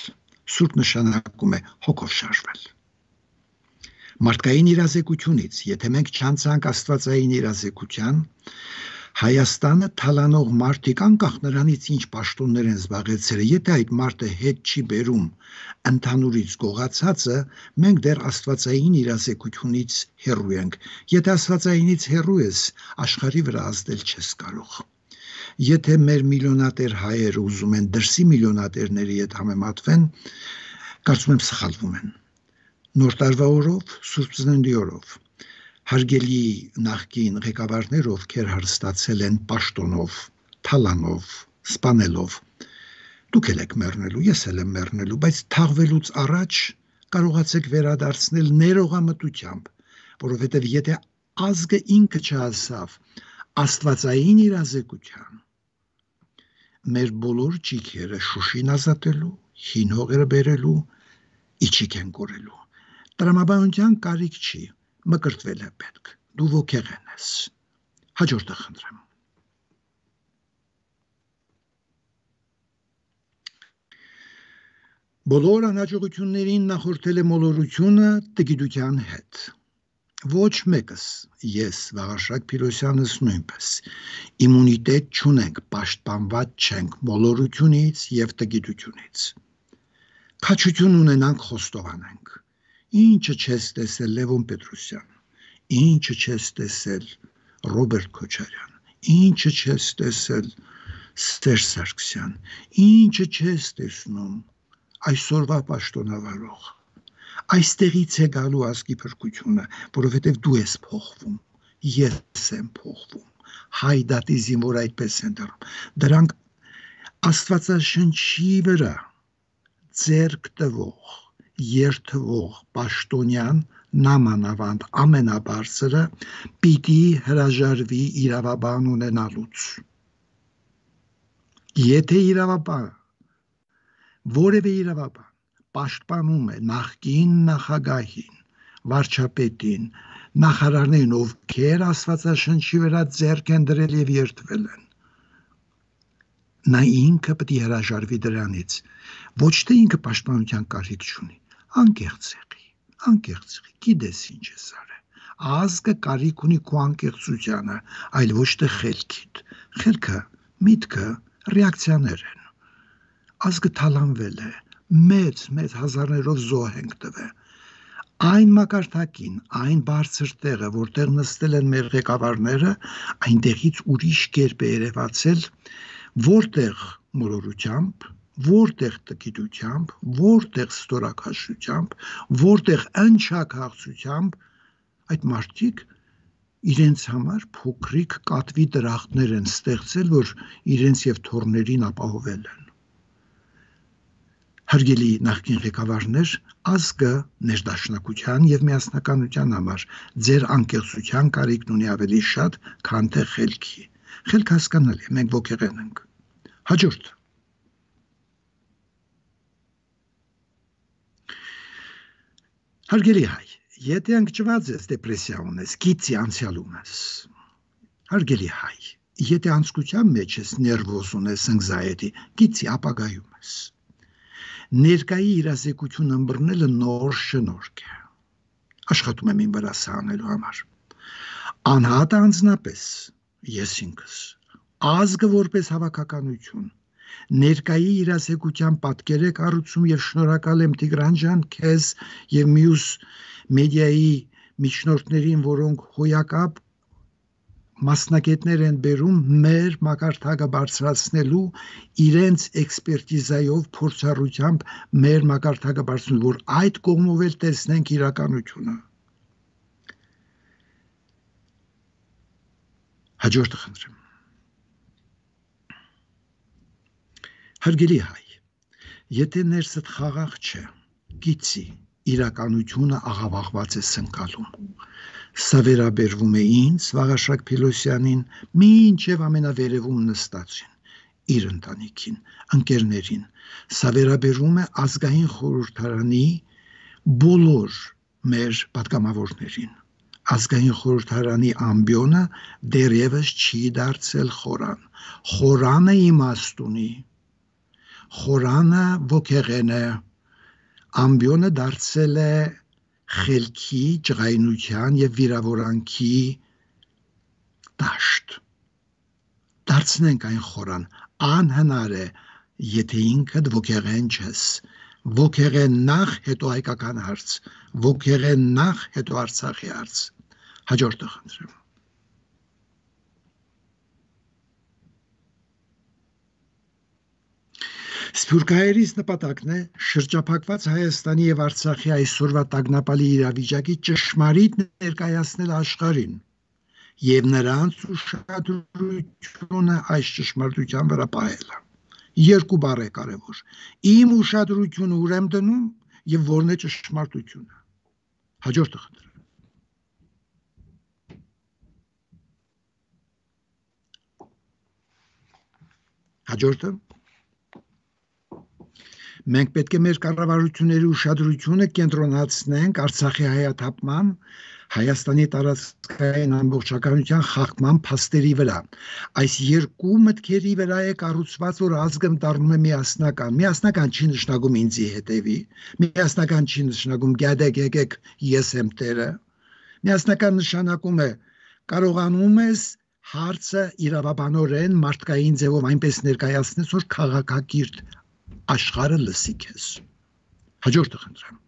Սուրբ նշանակում է հոգով շարժվել։ Մարդկային իրազեկությունից, եթե մենք չանցանք աստվածային իրազեկության, Հայաստանը թալանող մարդիկ անկախ նրանից ինչ պաշտոններ են զբաղեցրել, եթե այդ մարդը հետ չի բերում ընդհանուրից գողացածը, մենք դեռ աստվածային իրազեկությունից հեռու ենք։ Եթե աստվածայինից հեռու ես, աշխարհի վրա ազդել չես կարող։ Եթե մեր միլիոնատեր հայերը ուզում են դրսի միլիոնատերների հետ համեմատվեն, կարծում եմ սխալվում են։ Նոր տարվա օրով, Սուրբ Ծննդի օրով, հարգելի նախկին ղեկավարներ, ովքեր հարստացել են պաշտոնով, թալանով, սպանելով, դուք էլ եք մեռնելու, ես էլ եմ մեռնելու, բայց թաղվելուց առաջ կարողացեք վերադարձնել ներողամտությամբ, որովհետև եթե ազգը ինքը չհասավ աստվածային իրազեկության, մեր բոլոր ճիգերը Շուշին ազատելու, հին հողերը բերելու, իջիկ են կորելու։ Տրամաբանության կարիք չի, մկրտվել է պետք, դու ոգեղեն ես։ Հաջորդը խնդրեմ։ Բոլոր անհաջողություններին նախորդել է մոլորությունը տգիտության հետ։ Ոչ մեկս, ես, Վաղարշակ Փիրոսյանս նույնպես, իմունիտետ չունենք, պաշտպանված չենք մոլորությունից և տգիտությունից։ Քաջություն ունենանք, խոստովանենք։ Ինչը չես տեսել Լևոն Պետրոսյան, ինչը չես տեսել Ռոբերտ Քոչարյան, ինչը չես տեսել Սերժ Սարգսյան, ինչը չես տեսնում այսօրվա պաշտոնավարող։ Այստեղից է գալու ազգի փրկությունը, որովհետև դու ես փոխվում, ես եմ փոխվում, հայդատի զինվոր այդպես են դառնում։ Դրանք Աստվածաշնչի վրա ձեռք տվող, երթվող պաշտոնյան նամանավանդ ամենաբարձրը պիտի հրաժարվի իրավաբան ունենալուց։ Եթե իրավաբան, որևէ իրավաբան պաշտպանում է նախկին նախագահին, վարչապետին, նախարարներին, ովքեր Աստվածաշնչի վրա ձեռք են դրել և երդվել են, նա ինքը պետք է հրաժարվի դրանից, ոչ թե ինքը պաշտպանության կարիք չունի, անկեղծ եղի, անկեղծ եղի, գիտես ինչ ես արել, ազգը կարիք ունի քո անկեղծությանը, այլ ոչ թե խելքիդ, խելքը, միտքը, ռեակցիաներ են, ազգը թալանվել է, մեծ, մեծ հազարներով զոհ ենք տվել, այն մակարդակին, այն բարձր տեղը, որտեղ նստել են մեր ղեկավարները, այնտեղից ուրիշ կերպ է երևացել, որտեղ մոլորությամբ, որտեղ տգիտությամբ, որտեղ ստորաքաշությամբ, որտեղ ընչաքաղցությամբ, այդ մարդիկ իրենց համար փոքրիկ կատվի դրախտներ են ստեղծել, որ իրենց և թոռներին ապահովել են։ Հարգելի նախկին ղեկավարներ, ազգը ներդաշնակության և միասնականության համար ձեր անկեղծության կարիքն ունի ավելի շատ, քան թե խելքի։ Խելք հասկանալի է, մենք ոգեղեն ենք։ Հաջորդ։ Հարգելի հայ, եթե ընկճված ես, դեպրեսիա ունես, գիծի անցյալ ունես, հարգելի հայ, եթե անցկության մեջ ես, ներվոզ ունես, anxiety, գիծի ապագայում ես, ներկայի իրազեկություն ըմբռնելը նոր շնորհք է, աշխատում եմ իմ վրա սա անելու համար, անհատը անձնապես, ես ինքս, ազգը որպես հավաքականություն, ներկայի իրազեկության պատկեր է կառուցում և շնորհակալ եմ Տիգրան ջան, քեզ և մյուս մեդիայի միջնորդներին, որոնք հոյակապ մասնագետներ են բերում մեր մակարդակը բարձրացնելու, իրենց էքսպերտիզայով, փորձառությամբ մեր մակարդակը բարձրացնելու, որ այդ կողմով էլ տեսնենք իրականությունը։ Հաջորդը խնդրեմ։ Հարգելի հայ, եթե ներսդ խաղաղ չէ, գիծի, իրականությունը աղավաղված է սնկալում, Սա վերաբերվում է ինձ, Վաղարշակ Փիլոսյանին, մինչև ամենավերևում նստածին, իր ընտանիքին, ընկերներին։ Սա վերաբերվում է ազգային խորհրդարանի բոլոր մեր պատգամավորներին։ Ազգային խորհրդարանի ամբիոնը դեռևս չի դարձել խորան։ Խորանը իմաստ ունի, խորանը ոգեղեն է, ամբիոնը դարձել է խելքի, ջղայնության և վիրավորանքի դաշտ։ Դարձնենք այն խորան, անհնար է, եթե ինքդ ոգեղեն չես, ոգեղեն նախ, հետո հայկական հարց, ոգեղեն նախ, հետո Արցախի հարց։ Հաջորդը խնդրեմ։ Սփյուռքահայերից նպատակն է շրջափակված Հայաստանի և Արցախի այսօրվա տագնապալի իրավիճակի ճշմարիտ ներկայացնել աշխարհին և նրանց ուշադրությունը այս ճշմարտության վրա պահելը։ Երկու բառ է կարևոր։ Իմ ուշադրությունը ուր եմ դնում և որն է ճշմարտությունը։ Հաջորդը խնդրեմ։ Հաջորդը մենք պետք է մեր կառավարությունների ուշադրությունը կենտրոնացնենք Արցախի հայաթափման, Հայաստանի տարածքային ամբողջականության խախտման փաստերի վրա։ Այս երկու մտքերի վրա է կառուցված, որ ազգը դառնում է միասնական։ Միասնական չի նշանակում ինձի հետևի, միասնական չի նշանակում գյադեք եկեք ես եմ տերը։ Միասնական նշանակում է կարողանում ես հարցը իրավաբանորեն մարդկային ձևով այնպես ներկայացնես, որ քաղաքակիրթ աշխարհը լսի քեզ։ Հաջորդը խնդրեմ։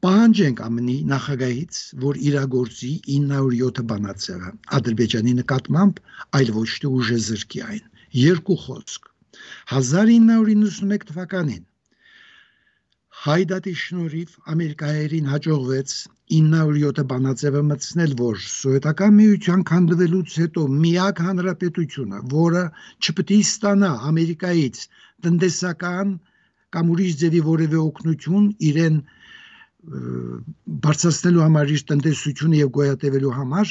Պահանջենք ԱՄՆ-ի նախագահից, որ իրագործի ինը հարյուր յոթ բանաձևը Ադրբեջանի նկատմամբ, այլ ոչ թե ուժը զրկի այն։ Երկու խոսք։ հազար ինը հարյուր իննսունմեկ թվականին Հայդատի շնորհիվ ամերիկայերին հաջողվեց ինը հարյուր յոթ բանաձևը մտցնել, որ սովետական միության քանդվելուց հետո միակ հանրապետությունը, որը չպետք է ստանա Ամերիկայից տնտեսական կամ ուրիշ ձևի որևէ օգնություն իրեն բարձրացնելու համար, իր տնտեսությունը և գոյատևելու համար,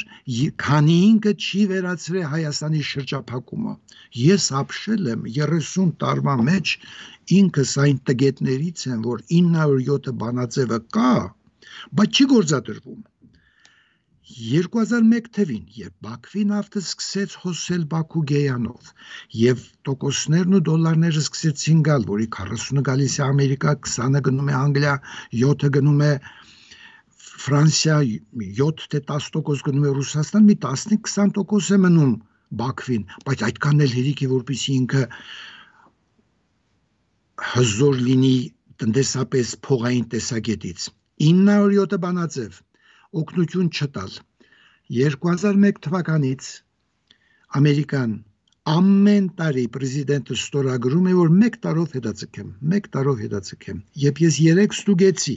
քանի ինքը չի վերացրել Հայաստանի շրջափակումը։ Ես ապրել եմ երեսուն տարվա մեջ, ինքս այն տգետներից եմ, որ ինը հարյուր յոթ բանաձևը կա, բայց չի գործադրվում։ երկու հազար մեկ թվին, երբ Բաքվի նավթը սկսեց հոսել Բաքու Գեյանով և տոկոսներն ու դոլարները սկսեցին գալ, որի քառասունը գալիս է Ամերիկա, քսանը գնում է Անգլիա, յոթը գնում է Ֆրանսիա, յոթ թե տասը տոկոս գնում է Ռուսաստան, մի տասնինը քսան տոկոս է մնում Բաքվին, բայց այդքան էլ հերիք է, որպեսզի ինքը հզոր լինի տնտեսապես փողային տեսակետից։ ինը հարյուր յոթ բանաձև օգնություն չտալ։ երկու հազար մեկ թվականից Ամերիկան ամեն տարի պրեզիդենտը ստորագրում է, որ մեկ տարով հետաձգեմ, մեկ տարով հետաձգեմ։ Երբ ես երեք ստուգեցի,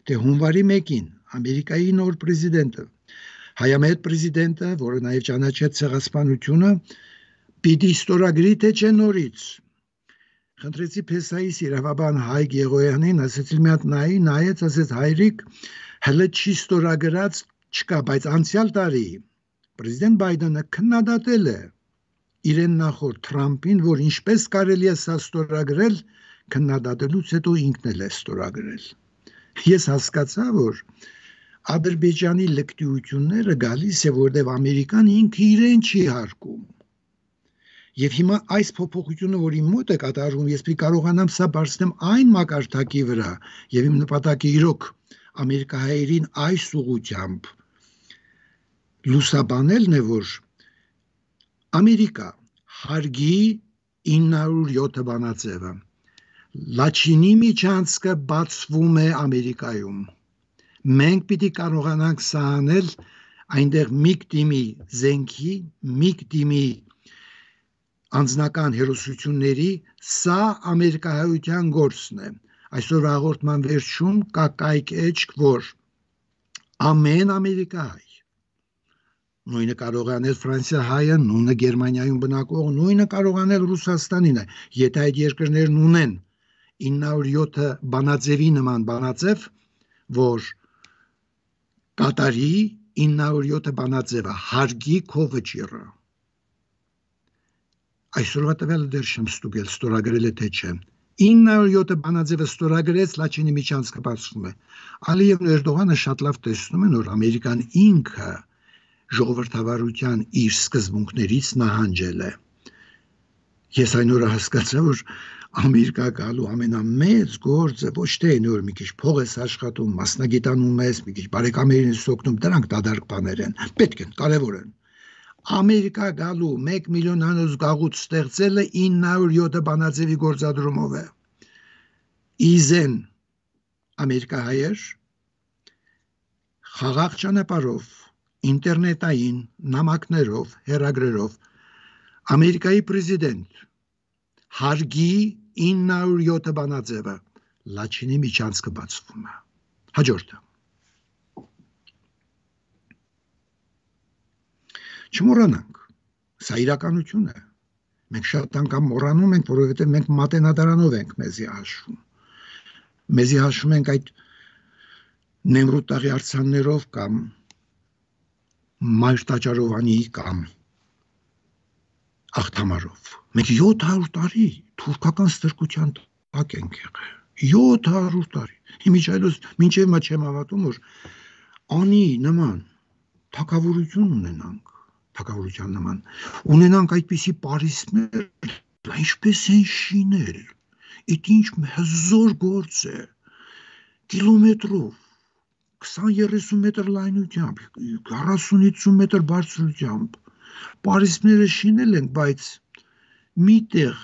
թե հունվարի մեկին Ամերիկայի նոր պրեզիդենտը, հայամետ պրեզիդենտը, որը նաև ճանաչեց ցեղասպանությունը, պիտի ստորագրի թե չէ նորից։ Խնդրեցի Փեսայիս իրավաբան Հայկ Եղոյանին, ասեցի մի հատ նայի, նայեց, ասեց հայրիկ, հələ չի ստորագրած չկա, բայց անցյալ տարի պրեզիդենտ Բայդենը քննադատել է իրեն նախորդ Թրամփին, որ ինչպես կարելի է սա ստորագրել, քննադատելուց հետո ինքն էլ է ստորագրել։ Ես հասկացա, որ Ադրբեջանի լկտիությունները գալիս է, որտեղ Ամերիկան ինքը իրեն չի հարկում։ Եվ հիմա այս փոփոխությունը, որ իմ մոտ է կատարվում, ես պիտի կարողանամ սա բարձրեմ այն մակարդակի վրա, եւ իմ նպատակը իրոք ամերիկահայերին այս ուղղությամբ լուսաբանելն է, որ Ամերիկա հարգի ինը հարյուր յոթ բանաձևը։ Լաչինի միջանցքը բացվում է Ամերիկայում։ Մենք պիտի կարողանանք սա անել այնտեղ միք դիմի զենքի, միք դիմի անձնական հերոսությունների, սա ամերիկահայության գործն է։ Այսօր հաղորդման վերջում կա կայք էջք, որ ամեն ամերիկահայ, նույնը կարող է անել Ֆրանսիահայը, նույնը Գերմանիայում բնակող, նույնը կարող է անել Ռուսաստանին է, եթե այդ երկրներն ունեն ինը հարյուր յոթ բանաձևի նման բանաձև, որ Կատարի ինը հարյուր յոթ բանաձևը հարգի քո վճիռը։ Այսօրվա տվյալը դեռ չեմ ստուգել, ստորագրել է թե չէ։ ինը հարյուր յոթ բանաձևը ստորագրեց, Լաչինի միջանցքը բացվում է։ Ալիևն ու Էրդողանը շատ լավ տեսնում են, որ Ամերիկան ինքը ժողովրդավարության իր սկզբունքներից նահանջել է։ Ես այն օրը հասկացա, որ Ամերիկա գալու ամենամեծ գործը ոչ թե այն որ մի քիչ փող ես աշխատում, մասնագիտանում ես, մի քիչ բարեկամերին ես օգնում, դրանք դատարկ բաներ են, պետք են, կարևոր են։ Ամերիկա գալու մեկ միլիոն անոց գաղութ ստեղծելը ինը հարյուր յոթ բանաձևի գործադրումով է։ Իզեն ամերիկահայեր խաղաղ ճանապարհով, ինտերնետային նամակներով, հեռագրերով Ամերիկայի պրեզիդենտ հարգի ինը հարյուր յոթ բանաձևը Լաչինի միջանցքը բացվում է։ Հաջորդը։ Չմոռանանք, սա իրականություն է։ Մենք շատ անգամ մոռանում ենք, որովհետև մենք մատենադարանով ենք մեզի հաշվում։ Մեզի հաշվում ենք այդ Նեմրութ արձաններով կամ Մայր տաճարովանի կամ աղթամարով։ Մենք յոթ հարյուր տարի թուրքական ստրկության տակ ենք եղել։ յոթ հարյուր տարի։ Իմիջայլոց մինչև մա չեմ հավատում, որ անի նման թագավորություն ունենանք, թագավորության նման ունենանք այդպիսի պարիսպներ, ինչպես են շինել։ Իդ ինչ հզոր գործ է։ Կիլոմետրով քսան երեսուն մետր լայնությամբ, քառասուն հինգ մետր բարձրությամբ պարիսպները շինել ենք, բայց միտեղ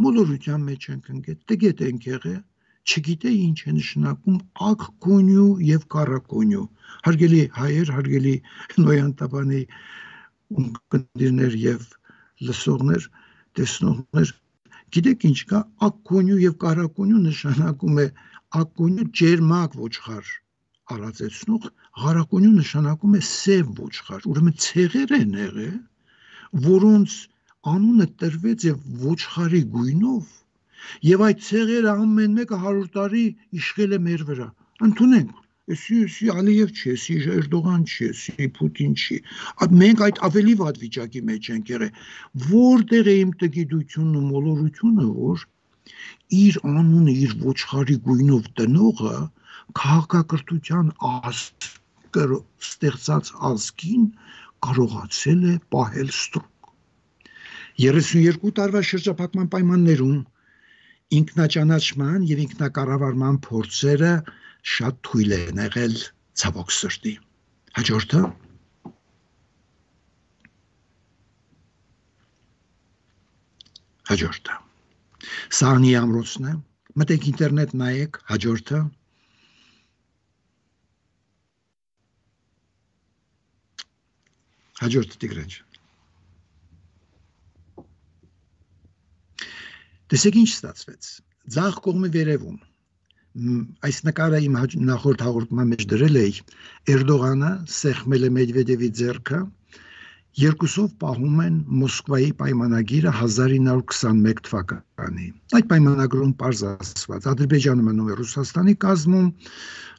մոլորության մեջ ենք ընկել, տգետ ենք եղել, չգիտե ինչ է նշանակում ակ կոնյու եւ կարակոնյու։ Հարգելի հայեր, հարգելի Նոյան Տապանի ունկնդիրներ եւ լսողներ, տեսնողներ, գիտեք ինչ կա, ակ կոնյու եւ կարակոնյու նշանակում է ակ կոնյու ջերմակ ոչխար արածեցնող, ղարակոնյու նշանակում է սև ոչխար, ուրեմն ցեղեր են եղել, որոնց անունը տրվեց եւ ոչխարի գույնով, եւ այդ ցեղերը ամեն մեկը հարյուր տարի իշխել է մեր վրա։ Ընդունենք, էսի էսի Ալիև չի, էսի Էրդողան չի, էսի Պուտին չի։ Մենք այդ ավելի վատ վիճակի մեջ ենք եղել։ Որտեղ է իմ տգիտությունն ու մոլորությունը, որ իր անունը իր ոչխարի գույնով տնողը քաղաքակրթության ազգը ստեղծած ազգին կարողացել է պահել ստրուկ։ երեսուն տարվա շրջափակման պայմաններում ինքնաճանաչման եւ ինքնակառավարման փորձերը շատ թույլ են եղել ցավոք սրտի։ Հաջորդը Հաջորդը Սա անի ամրոցն է, մտեք ինտերնետ նայեք, հաջորդը Հաջորդը Տիգրան ջան։ Տեսեք ինչ ստացվեց։ Ձախ կողմի վերևում այս նկարը իմ նախորդ հաղորդման մեջ դրել էի, Էրդողանը սեղմել է Մեդվեդևի ձեռքը, երկուսով պահում են Մոսկվայի պայմանագիրը հազար ինը հարյուր քսանմեկ թվականի։ Այդ պայմանագրում պարզ ասված Ադրբեջանը մնում է Ռուսաստանի կազմում,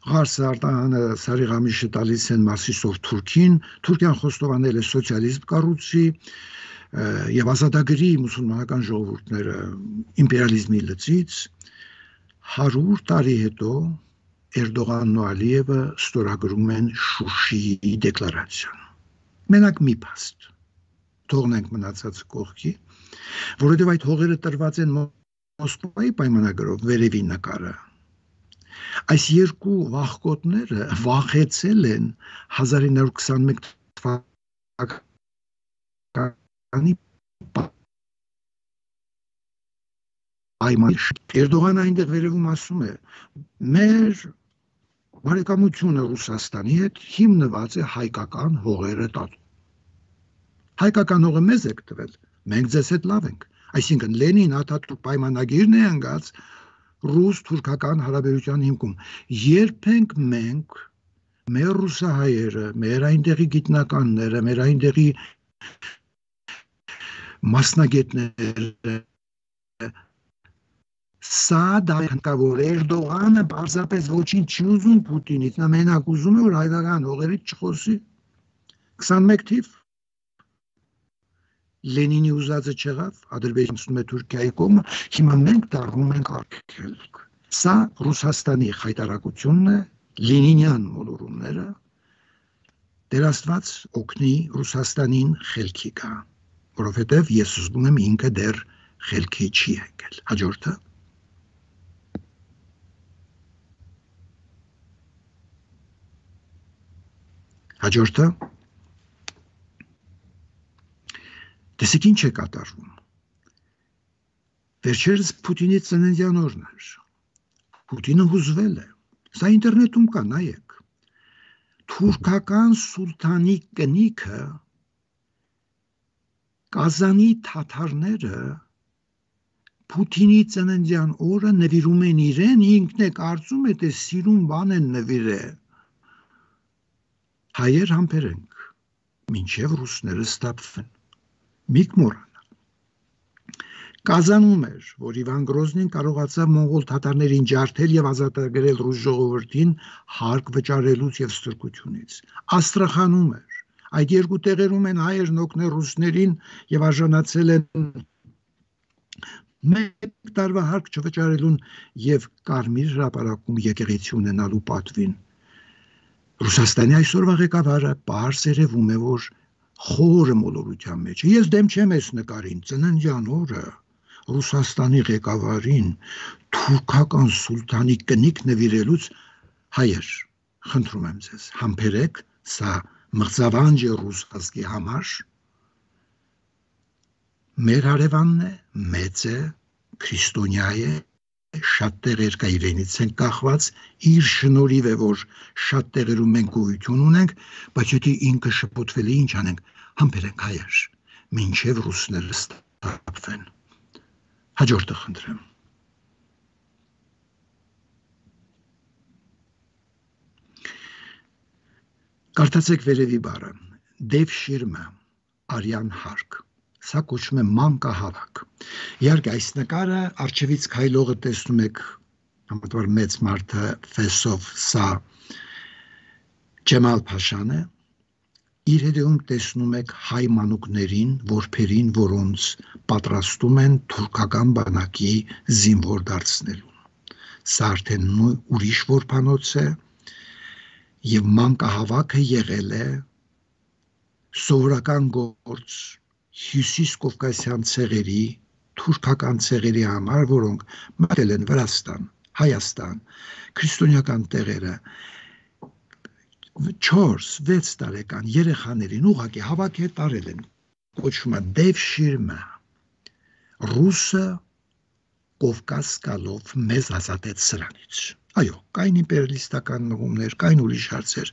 Ղարսը Արտահանը Սարիղամիշը տալիս են Մասիսով Թուրքին, Թուրքիան խոստովանել է սոցիալիզմ կառույցի եւ ազատագրի մուսուլմանական ժողովուրդները իմպերիալիզմի լծից։ հարյուր տարի հետո Էրդողանն ու Ալիևը ստորագրում են Շուշիի դեկլարացիան։ Մենակ մի փաստ, թողնենք մնացածը կողքի, որովհետև այդ հողերը տրված են Մոսկվայի պայմանագրով, վերևի նկարը։ Այս երկու վախկոտները վախեցել են հազար ինը հարյուր քսանմեկ թվականի պայմանագիր։ Էրդողանը այնտեղ վերևում ասում է. մեր բարեկամությունը Ռուսաստանի հետ հիմնված է հայկական հողերը տալու։ Հայկական հողը մեզ եք տվել, մենք ձեզ հետ լավ ենք։ Այսինքն Լենին-Աթաթուրք պայմանագիրն է անգած ռուս-թուրքական հարաբերության հիմքում։ Երբենք մենք մեր ռուսահայերը, մեր այնտեղի գիտնականները, մեր այնտեղի մասնագետները Սա դահանավոր Էրդողանը պարզապես ոչինչ չի ուզում Պուտինից, նա մենակ ուզում է, որ հայկական հողերից չխոսի։ քսանմեկ թիվ Լենինի ուզածը չեղավ, Ադրբեջանցում է Թուրքիայի կողմը, հիմա մենք դառնում ենք արգելք։ Սա Ռուսաստանի խայտարակությունն է, Լենինյան մոլորումները, Տեր Աստված օգնի Ռուսաստանին խելքի գա, որովհետև ես զգում եմ ինքը դեռ խելքի չի եկել։ Հաջորդը Հաջորդը տեսեք ինչ է կատարվում։ Վերջերս Պուտինի ծննդյան օրն էր։ Պուտինը հուզվել է։ Սա ինտերնետում կա, նայեք։ Թուրքական սուլթանի կնիքը Կազանի թաթարները Պուտինի ծննդյան օրը նվիրում են իրեն, ինքն է կարծում է, թե սիրուն բան են նվիրել։ Հայեր համբերենք, մինչև ռուսները ստապվեն։ Մի կմոռանա։ Կազանում էր, որ Իվան Գրոզնին կարողացավ մոնղոլ թաթարներին ջարդել եւ ազատագրել ռուս ժողովրդին հարկ վճարելուց եւ ստրկությունից։ Աստրախանում էր։ Այդ երկու տեղերում են հայերն օգնել ռուսներին եւ արժանացել են մեկ տարվա հարկ չվճարելուն եւ կարմիր հրապարակում եկեղեցի ունենալու պատվին։ Ռուսաստանի այսօրվա ղեկավարը պարզ երևում է, որ խորը մոլորության մեջ է։ Ես դեմ չեմ այս նկարին, ծննդյան օրը Ռուսաստանի ղեկավարին թուրքական սուլթանի կնիկ նվիրելուց հայեր, խնդրում եմ ձեզ, համբերեք, սա մղձավանջ է ռուս ազգի համար։ Մեր հարևանն է, մեծ է, քրիստոնյա է, շատ տեղեր կա իրենից են կախված, իր շնորհիվ է, որ շատ տեղերում մենք գոյություն ունենք, բայց եթե ինքը շփոթվել է, ինչ անենք, համբերենք հայեր, մինչև ռուսները ստապվեն։ Հաջորդը խնդրեմ։ Կարդացեք վերևի բառը, դև շիրմը, արյան հարկ, սա կոչվում է մանկահավաք։ Իհարկե այս նկարը արջևից քայլողը տեսնում եք, համատար մեծ մարդը ֆեսով, սա Ջեմալ Փաշան է, իր հետևում տեսնում եք հայ մանուկներին, որբերին, որոնց պատրաստում են թուրքական բանակի զինվոր դարձնելուն։ Սա արդեն ուրիշ որբանոց է եւ մանկահավաքը եղել է սովորական գործ Հյուսիս Կովկասյան ցեղերի, թուրքական ցեղերի համար, որոնք մտել են Վրաստան, Հայաստան, քրիստոնեական տեղերը, չորս վեց տարեկան երեխաներին ուղղակի հավաքի տարել են, կոչվում է դև շիրմը, ռուսը Կովկաս գալով մեզ ազատեց սրանից։ Այո, կային իմպերիալիստական մղումներ, կային ուրիշ հարցեր,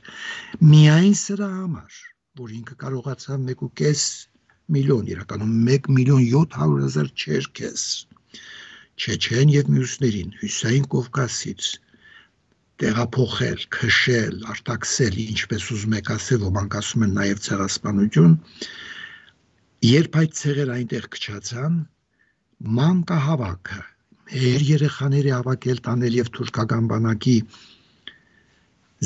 միայն սրա համար, որ ինքը կարողացավ մեկ ու կես միլիոն, իրականում մեկ միլիոն յոթ հարյուր հազար չերքես, Չեչեն եւ մյուսներին, Հյուսային Կովկասից տեղափոխել, քշել, արտաքսել, ինչպես ուզում եք ասել, ոմանք ասում են նաեւ ցեղասպանություն, երբ այդ ցեղերը այնտեղ քչացան, մանկահավաքը, մեր երեխաների հավաքել տանել եւ թուրքական բանակի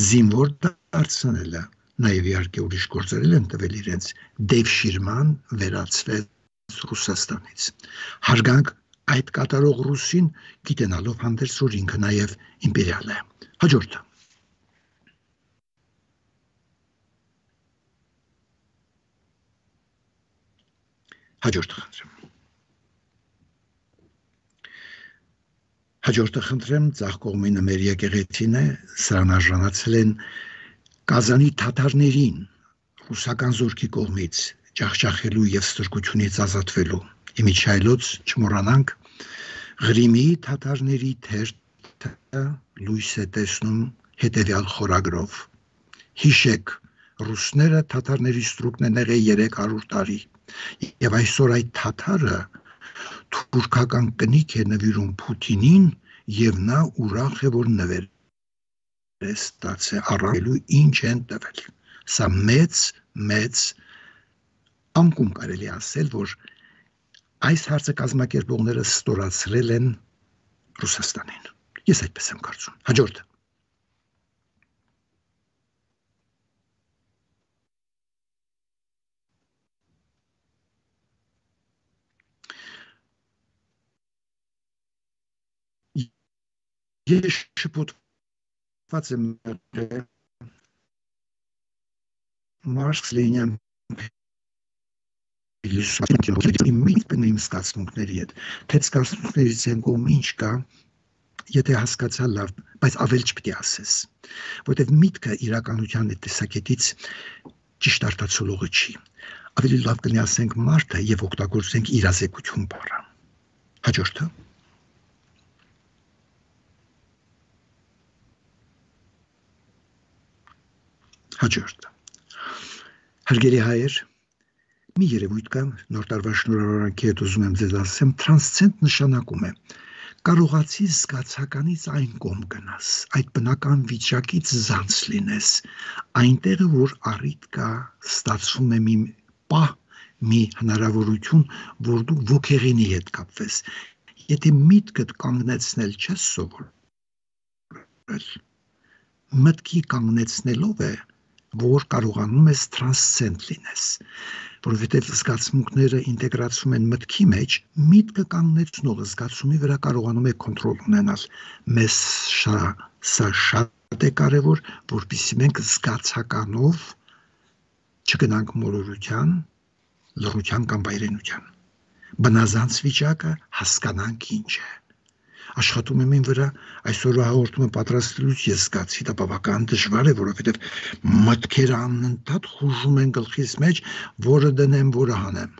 զինվոր դարձնելը, նաև իհարկե ուրիշ գործեր են տվել իրենց, դև շիրման վերացվեց Ռուսաստանից։ Հարգանք այդ կատարող ռուսին, գիտենալով հանդերձ, որ ինքը նաև իմպերիալ է։ Հաջորդը։ Հաջորդը խնդրեմ։ Հաջորդը խնդրեմ, ձախ կողմինը մեր եկեղեցին է, սրան արժանացել են Կազանի թաթարներին ռուսական զորքի կողմից ջախջախելու եւ ստրկությունից ազատվելու։ Իմիջայլոց չմոռանանք Ղրիմի թաթարների թերթը լույս է տեսնում հետևյալ խորագրով։ Հիշեք, ռուսները թաթարների ստրուկն են եղել երեք հարյուր տարի եւ այսօր այդ թաթարը թուրքական կնիկ է նվիրում Պուտինին եւ նա ուրախ է, որ նվեր ստացե առավելու ինչ են տվել։ Սա մեծ, մեծ անկում կարելի ասել, որ այս հարցը կազմակերպողները ստորացրել են Ռուսաստանին։ Ես այդպես եմ կարծում։ Հաջորդը։ Ես շփոթված եմ Մարքս Լենին իմ զգացմունքների հետ, թե զգացմունքներից են կողմ ինչ կա, եթե հասկացա լավ, բայց ավել չպետք է ասես, որտեղ միտքը իրականության այդ տեսակետից ճիշտ արտացոլողը չի, ավելի լավ կլինի ասենք մարդը եւ օգտագործենք իրազեկություն բառը։ Հաջորդը։ Հաջորդը։ Հարգելի հայեր, մի երևույթ կա, նոր տարվա շնորհավորանքի հետ ուզում եմ ձեզ ասեմ, տրանսցենդ նշանակում է կարողացի զգացականից այն կողմ գնաս, այդ բնական վիճակից զանց լինես, այնտեղը, որ առիթ կա, ստացվում է մի պահ, մի հնարավորություն, որ դու ոգեղենի հետ կապվես։ Եթե միտքդ կանգնեցնել չես սովորել, մտքի կանգնեցնելով է, որ կարողանում ես տրանսցենդ լինես, որովհետև զգացմունքները ինտեգրացում են մտքի մեջ, միտքը կանգնեցնողը զգացումի վրա կարողանում է կոնտրոլ ունենալ։ Մեզ սա շատ է կարևոր, որպեսզի մենք զգացականով չգնանք մոլորության, լռության կամ վայրենության։ Բնազանց վիճակը հասկանանք ինչ է։ Աշխատում եմ ին վրա, այսօրվա հաղորդումը պատրաստելուց ես զգացի, դա բավական դժվար է, որովհետև մտքերը անընդհատ խուժում են գլխիս մեջ, որը դնեմ, որը հանեմ։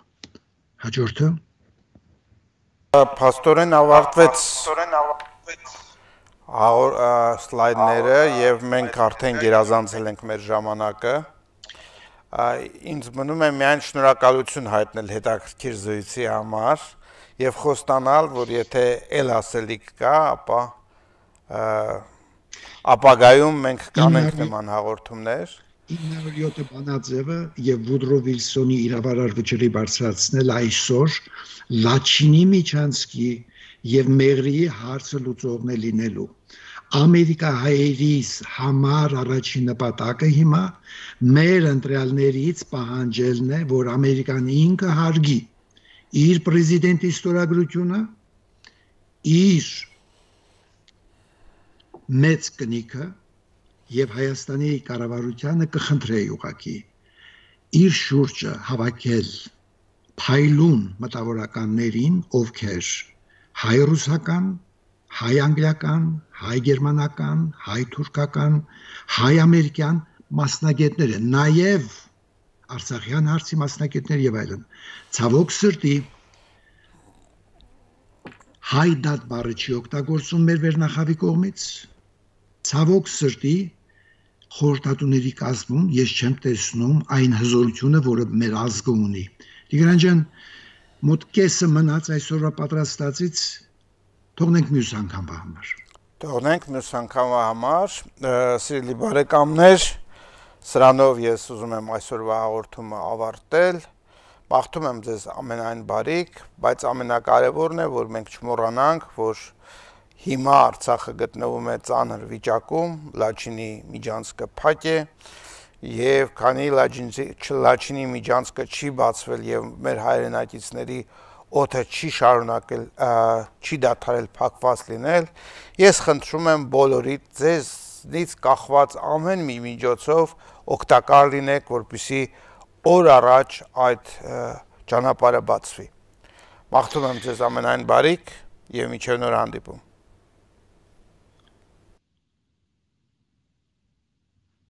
Հաջորդը։ Փաստորեն ավարտվեց սլայդները եւ մենք արդեն գերազանցել ենք մեր ժամանակը։ Ինձ մնում է միայն շնորհակալություն հայտնել հետաքրքիր զրույցի համար եւ խոստանալ, որ եթե ել ասելիք կա, ապա ապագայում մենք կանենք նման հաղորդումներ։ ինը հարյուր յոթ բանաձևը եւ Վուդրո Վիլսոնի իրավարար վճռի բարձրացնել այսօր Լաչինի միջանցքի եւ Մեղրիի հարցը լուծողն է լինելու։ Ամերիկահայերիս համար առաջին նպատակը հիմա մեր ընտրյալներից պահանջելն է, որ Ամերիկան ինքը հարգի իր պրեզիդենտի ստորագրությունը, իր մեծ կնիքը եւ Հայաստանի կառավարությանը կխնդրեի ուղղակի իր շուրջը հավաքել փայլուն մտավորականներին, ովքեր հայ-ռուսական, հայ-անգլիական, հայ-գերմանական, հայ-թուրքական, հայ-ամերիկյան մասնագետներ են, նաև Արցախյան հարցի մասնագետներ եւ այլն։ Ցավոք սրտի հայդատ բառը չի օգտագործում մեր վերնախավի կողմից։ Ցավոք սրտի խորհրդատուների կազմում ես չեմ տեսնում այն հզորությունը, որը մեր ազգը ունի։ Տիգրան ջան, մոտ կեսը մնաց այսօրվա պատրաստածից, թողնենք մյուս անգամվա համար։ Թողնենք մյուս անգամվա համար, սիրելի բարեկամներ, սրանով ես ուզում եմ այսօրվա հաղորդումը ավարտել, մաղթում եմ ձեզ ամենայն բարիք, բայց ամենակարևորն է, որ մենք չմոռանանք, որ հիմա Արցախը գտնվում է ծանր վիճակում, Լաչինի միջանցքը փակ է, եւ քանի Լաչինի միջանցքը չի բացվել եւ մեր հայրենակիցների օդը չի շարունակել, չի դադարել փակված լինել, ես խնդրում եմ բոլորիդ ձեզնից կախված ամեն մի միջոցով օգտակար լինեք, որպեսզի օր առաջ այդ ճանապարհը բացվի։ Մաղթում եմ ձեզ ամենայն բարիք եւ մինչեւ նոր հանդիպում։